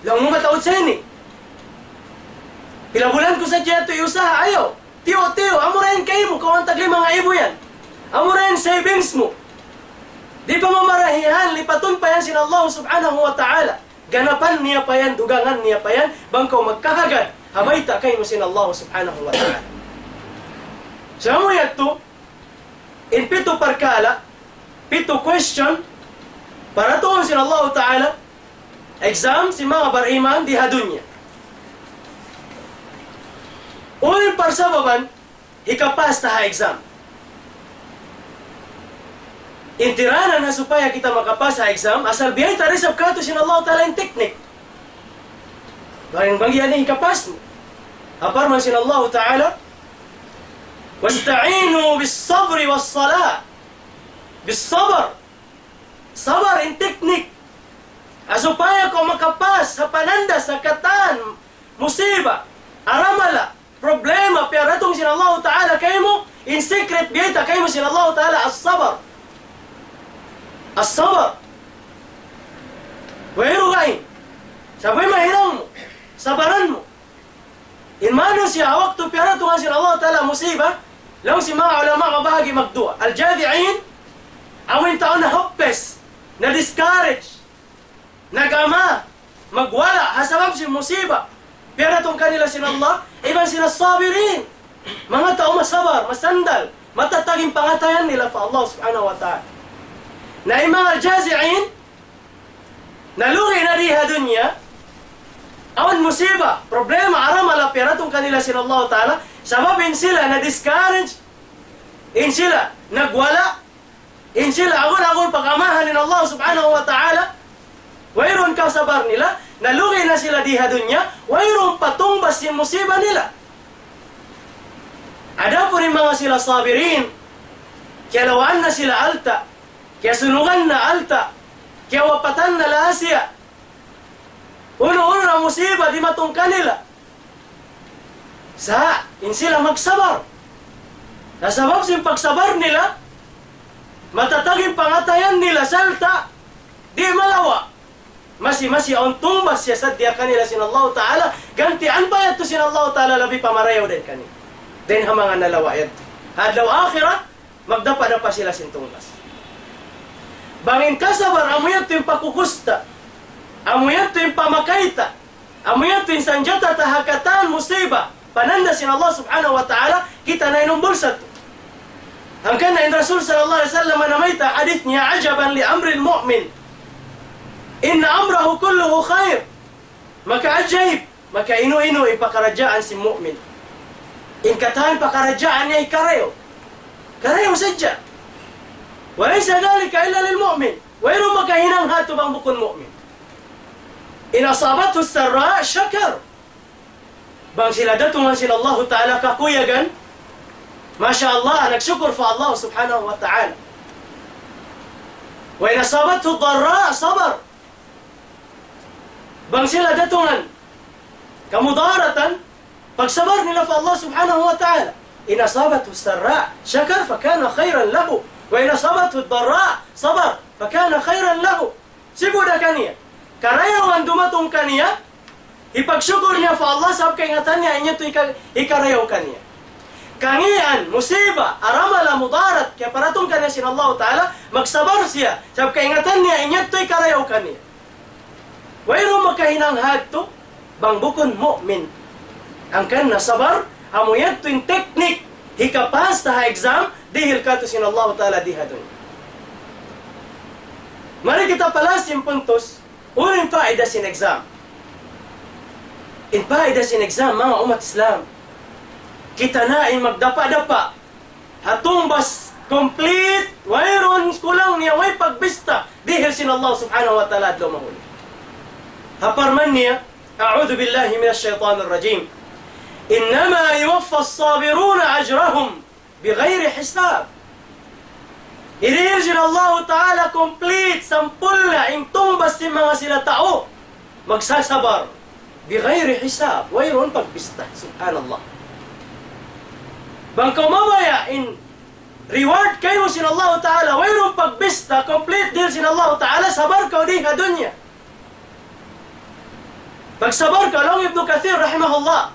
Laung mu mataud sa ini. Pila bulan ku sadja yadtu iyusaha, ayaw. Tiyu'-tiyu', amura yan kaymu, kawhaan tag lima ngaibu yan. Amura yan savings mu. Di' pa mamarahihan, lipatun pa yan sin Allah Subhanahu wa Ta'ala. Ganapan niya pa yan, dugangan niya pa yan, bang kaw magkahagad ha bayta' kaymu sin Allah Subhanahu wa Ta'ala. Sa' amu yadtu, in pitu parkala', pitu question, paratuhun sin Allah Ta'ala, exam sin manga bariman di ha dunya. Unu in parsababan, hikapas ta ha exam. In tiranan ha supaya kita makapas ha exam, asal biyayta' da isab katu' sin Allah Ta'ala in technique. Bang, bang yan hikapas mu. Ha parman sin Allah Ta'ala, وَاسْتَعِينُوا بِالصَّبْرِ وَالصَّلَاةِ. Bis-sabr. Sabar in technique. Ha supaya kaw makapas ha panandas ha katan musiba, aramala, problema, piyaratung sin Allahu Ta'ala kaymu, in secret biyayta' kaymu sin Allahu Ta'ala, as-sabr. As-sabr. Wayruun gain. Sabab mahinang mu. Sabaran mu. In manusiya' waktu piyaratung sin Allahu Ta'ala musiba, laung sin manga ulama mabahagi' magduwa. Al-jazi'in, amu in tau na hopeless, na discourage, nag-ama, magwala', ha sabab sin musiba piyaratung kanila sin Allah, iban sin as-sabirin, manga tau masabar, masandal, matatag in pangatayan nila pa Allah Subhanahu wa Ta'ala. Na in manga jazi'in, nalugi' na di ha dunya, awn musiba, problema, aramala piyaratung kanila sin Allah Ta'ala, sabab in sila na-discourage, in sila nagwala', in sila agun-agun pag-amahan in Allah Subhanahu wa Ta'ala, wayruun kasabar nila, nalugi' na sila di ha dunya, wayruun pa tungbas sin musiba nila. Adapun in manga sila sabirin, kiyalawaan na sila alta', kiyasunugan na alta', kiyawapatan na laha siya. Unu-unu na musiba dimatung kanila. Sa', in sila magsabar. Na sabab sin pagsabar nila, matatag in pangatayan nila, sarta' di' malawa'. Masi-masi awn tungbas siya sadja kanila sin Allahu Ta'ala, gantian pa yadtu sin Allahu Ta'ala labi pa marayaw dayn kanila. Dayn ha manga nalawa' yadtu. Ha adlaw akhirat, magdapa-dapa sila sin tungbas. Bang in kasabar, amu yadtu in pakukusta, amu yadtu in pamakayta', amu yadtu in sanjata ta ha katan musiba, pananda' sin Allah Subhanahu wa Ta'ala, kita' na in umbul sadtu. Hangkan na in Rasul sallallahu alayhi wasallam namayta' hadith niya, عجبا لأمر المؤمن إن أمره كله خير. Makaajayib, makainu-inu in pakaradjaan sin mu'min. In katan pakaradjaan niya hikarayaw. Karayaw sadja. وليس ذلك إلا للمؤمن. Wayruun makahinang hatu bang bukun mu'min. إن أصابته سراء شكر. Bang sila datungan sin Allahu Ta'ala kakuyagan, masha Allah, nagsukur pa Allah Subhanahu wa Ta'ala. وإن أصابته ضراء صبر. Bang sila datungan kamudaratan, pagsabar nila pa Allah Subhanahu wa Ta'ala. إن أصابته السراء شكر فكان خيرا له، وإن أصابته الضراء صبر فكان خيرا له. Sibu' da kaniya. Karayawan dumatung kaniya, hipagsukur niya pa Allah sabab kaingatan niya in yadtu hika-, hikarayaw kaniya. Kangian, musiba, aramala, mudarat, kiyaparatung kaniya sin Allah Ta'ala, magsabar siya, sabab kaingatan niya in yadtu hikarayaw kaniya. Wayruun makahinang hadtu, bang bukun mu'min. Hangkan na sabar, amu yadtu in teknik, hikapas ta ha exam, dihil katu' sin Allah Ta'ala di ha dunya. Mari kita palas in puntus, unu in faida sin exam. In faida sin exam, manga ummat Islam. Kita na in magdapa-dapa. Ha tungbas complete, wayruun kulang niya, way pagbista, dihil sin Allah Subhanahu wa Ta'ala adlaw mahuli. Ha parman niya, أعوذ بالله من الشيطان الرجيم. إنما يوفى الصابرون أجرهم بغير حساب. Hirihil sin Allahu Ta'ala complete, sampurna' in tungbas sin manga sila tau magsasabar. بغير حساب. Wayruun pagbista. Subhanallah. Bang kaw mabaya' in reward kaymu sin Allahu Ta'ala, wayruun pagbista, complete deal sin Allahu Ta'ala, sabar kaw di ha dunya. Pagsabar kaw, laung Ibnu Kathir rahimahullah.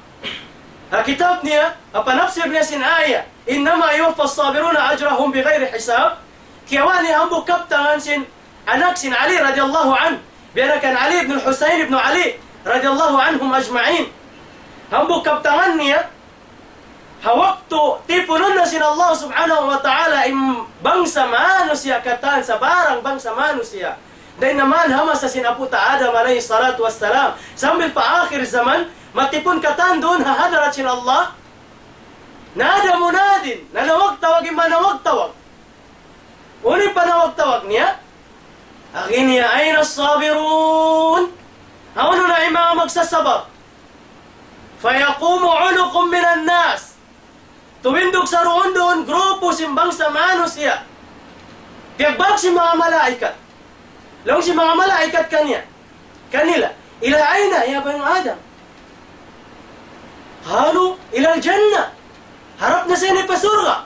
Ha kitab niya, ha panafsir niya sin aya, إنما يوفى الصابرون أجرهم بغير حساب. Kiyawa' niya hambuuk kabtangan sin anak sin Ali radiyallahu anhu. Biya' na kan Ali ibn Husayn ibn Ali radiyallahu anhum ajma'in. Hambuuk kabtangan niya, ha waktu tipunun na sin Allah Subhanahu wa Ta'ala in bangsa manusiya' katan, sabarang bangsa manusiya'. Dayn naman ha masa sin apu' ta Adam alayhi salatu wassalam. Sambil pa akhir zaman, matipun katan duun ha hadarat sin Allah. نادى مناد, nanawag-tawag in manawag-tawag. Unu in panawag-tawag niya? Agi niya, أين الصابرون؟ Hawnu na in manga magsasabar? فيقوم عنق من الناس. Tumindug saruun-duun grupu sin bangsa manusiya'. Piyagbāk sin manga malaikat. Laung sin manga malaikat kaniya, kanila, إلى أين يا بني آدم؟ قالوا إلى الجنة. Harap na sa ini pa surga'.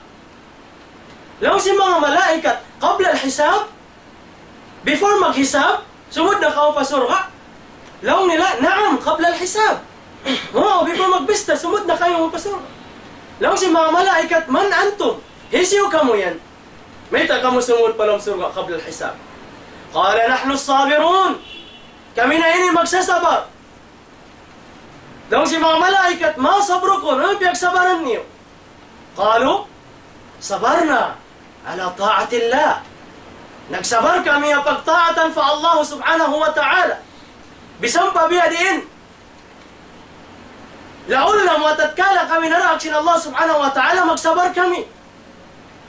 Laung sin manga malaikat, قبل الحساب? Before maghisab, sumud na kamu pa surga'? Laung nila, نعم قبل الحساب. Oo, before magbista, sumud na kamu pa surga'. Laung sin manga malaikat, من أنتم؟ Hisiyu kamu yan? Mayta' kamu sumud pa lawm surga' قبل الحساب؟ قال نحن الصابرون. Kami na ini magsasabar. Laung sin manga malaikat, ما صبركم؟ Unu in piyagsabaran niyu? قالوا صبرنا على طاعة الله. Nagsabar kami ha pagtaatan pa Allah Subhanahu wa Ta'ala. Bisan pa biya' diin, laul na mu atatkala kami naraak sin Allah Subhanahu wa Ta'ala, magsabar kami.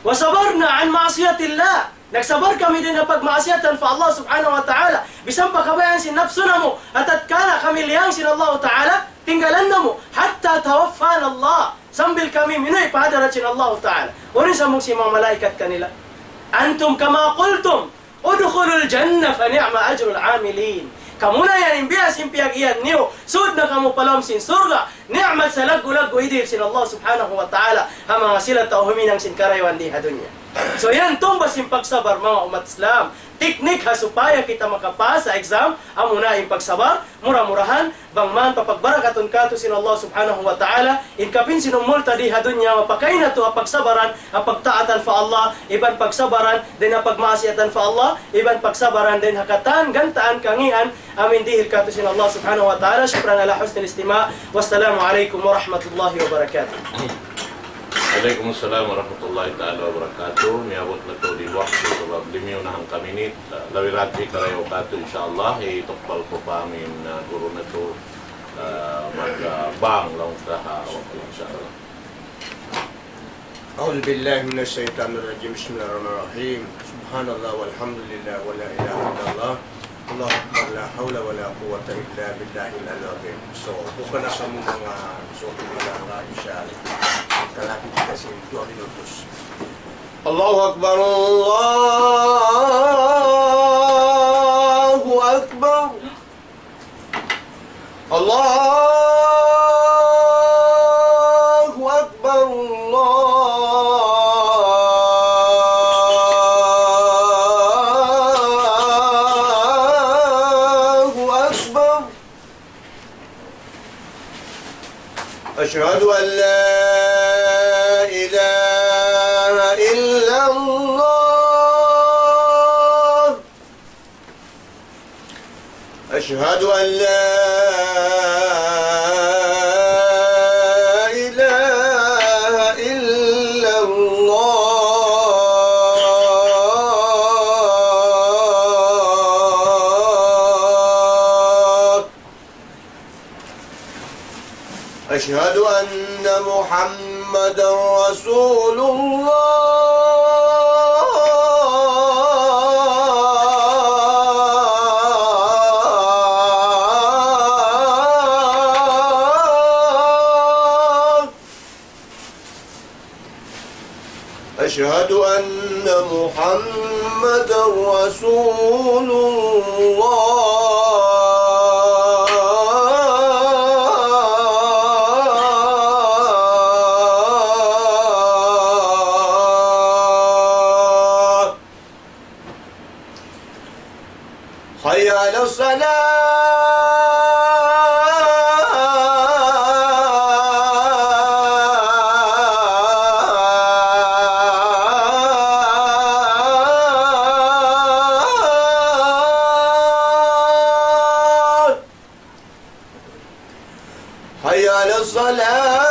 وصبرنا عن معصية الله. Nagsabar kami dayn ha pagmaasiyatan pa Allah Subhanahu wa Ta'ala. Bisan pa kabayaan sin napsu namu', atatkala kami liyang sin Allah Ta'ala, tinggalan namu'. حتى توفانا الله. Sambil kami minuwi' pa hadarat sin Allah Ta'ala. Unu in sambung sin manga malaikat kanila? أنتم كما قلتم ادخلوا الجنة فنعم أجر العاملين. Kamu na yan in biya' sin piyag-iyan niyu. Sud na kamu pa lawm sin surga'. Ni'mat salaggu'-laggu' idihil sin Allah Subhanahu wa Ta'ala ha manga sila tau huminang sin karayawan di ha dunya. So yan, tungbas sin pagsabar, manga ummat Islam. Teknik ha supaya kita makapas ha exam, amuna in pagsabar, mura-murahan, bang man papagbarakatun katu' sin Allah Subhanahu wa Ta'ala, in kapin sin umul ta di ha dunya, mapakay natu' ha pagsabaran, ha pagtaatan pa Allah, iban pagsabaran, dayn ha pagmaasiyatan pa Allah, iban pagsabaran, dayn ha katan, gantaan, kangian, amu in dihil katu' sin Allah Subhanahu wa Ta'ala. شكرا على حسن الاستماع. والسلام عليكم ورحمة الله وبركاته. Alaykum salam warahmatullahi ta'ala wabarakatuh. Miyabut na tuud in waktu sabab limiyu na hangka minit. Ah, labi rati karayaw katu', insya Allah, hitukbal ku pa amin, ah, guru natu', ah, mag, ah, bang laung ta ha waktu, insya Allah. أعوذ بالله من الشيطان الرجيم. بسم الله الرحمن الرحيم. سبحان الله والحمد لله ولا إله إلا الله. الله أكبر. لا حول ولا قوة إلا بالله العلي العظيم. So, buka na kamu manga suki malanga, insya Allah. Kalapit kita sin duwa minutos. الله أكبر. الله أكبر. الله أكبر. الله أشهد أن لا إله إلا الله. أشهد أن لا إله إلا الله. أشهد أن محمدا رسول الله. أشهد أن محمدا رسول الله. حي على الصلاة. حي على الصلاة.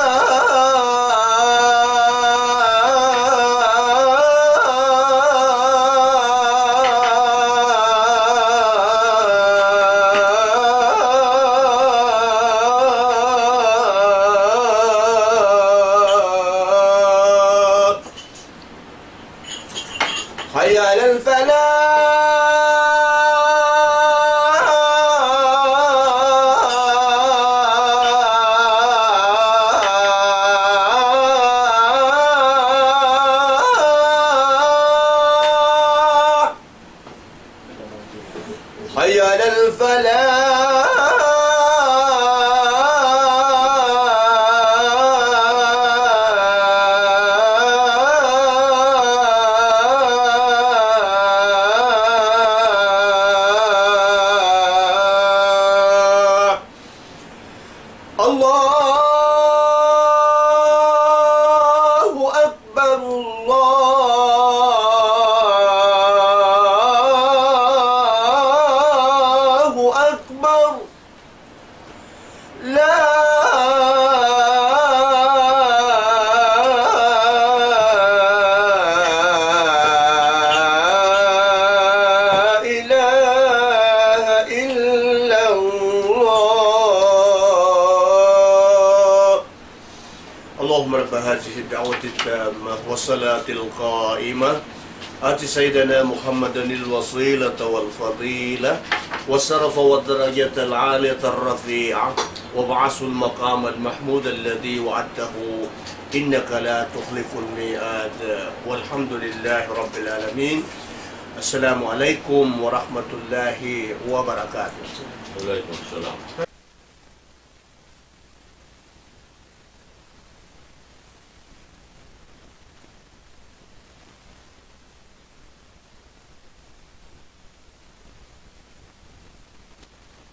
حي على الفلاح. حي على الفلاح. الله أكبر، الله أكبر. لا إله إلا الله. اللهم رب هذه الدعوة التامة والصلاة القائمة، آت سيدنا محمدا الوسيلة والفضيلة والشرف والدرجة العالية الرفيعة، وابعثه المقام المحمود الذي وعدته، إنك لا تخلف الميعاد. والحمد لله رب العالمين. السلام عليكم ورحمة الله وبركاته. وعليكم السلام.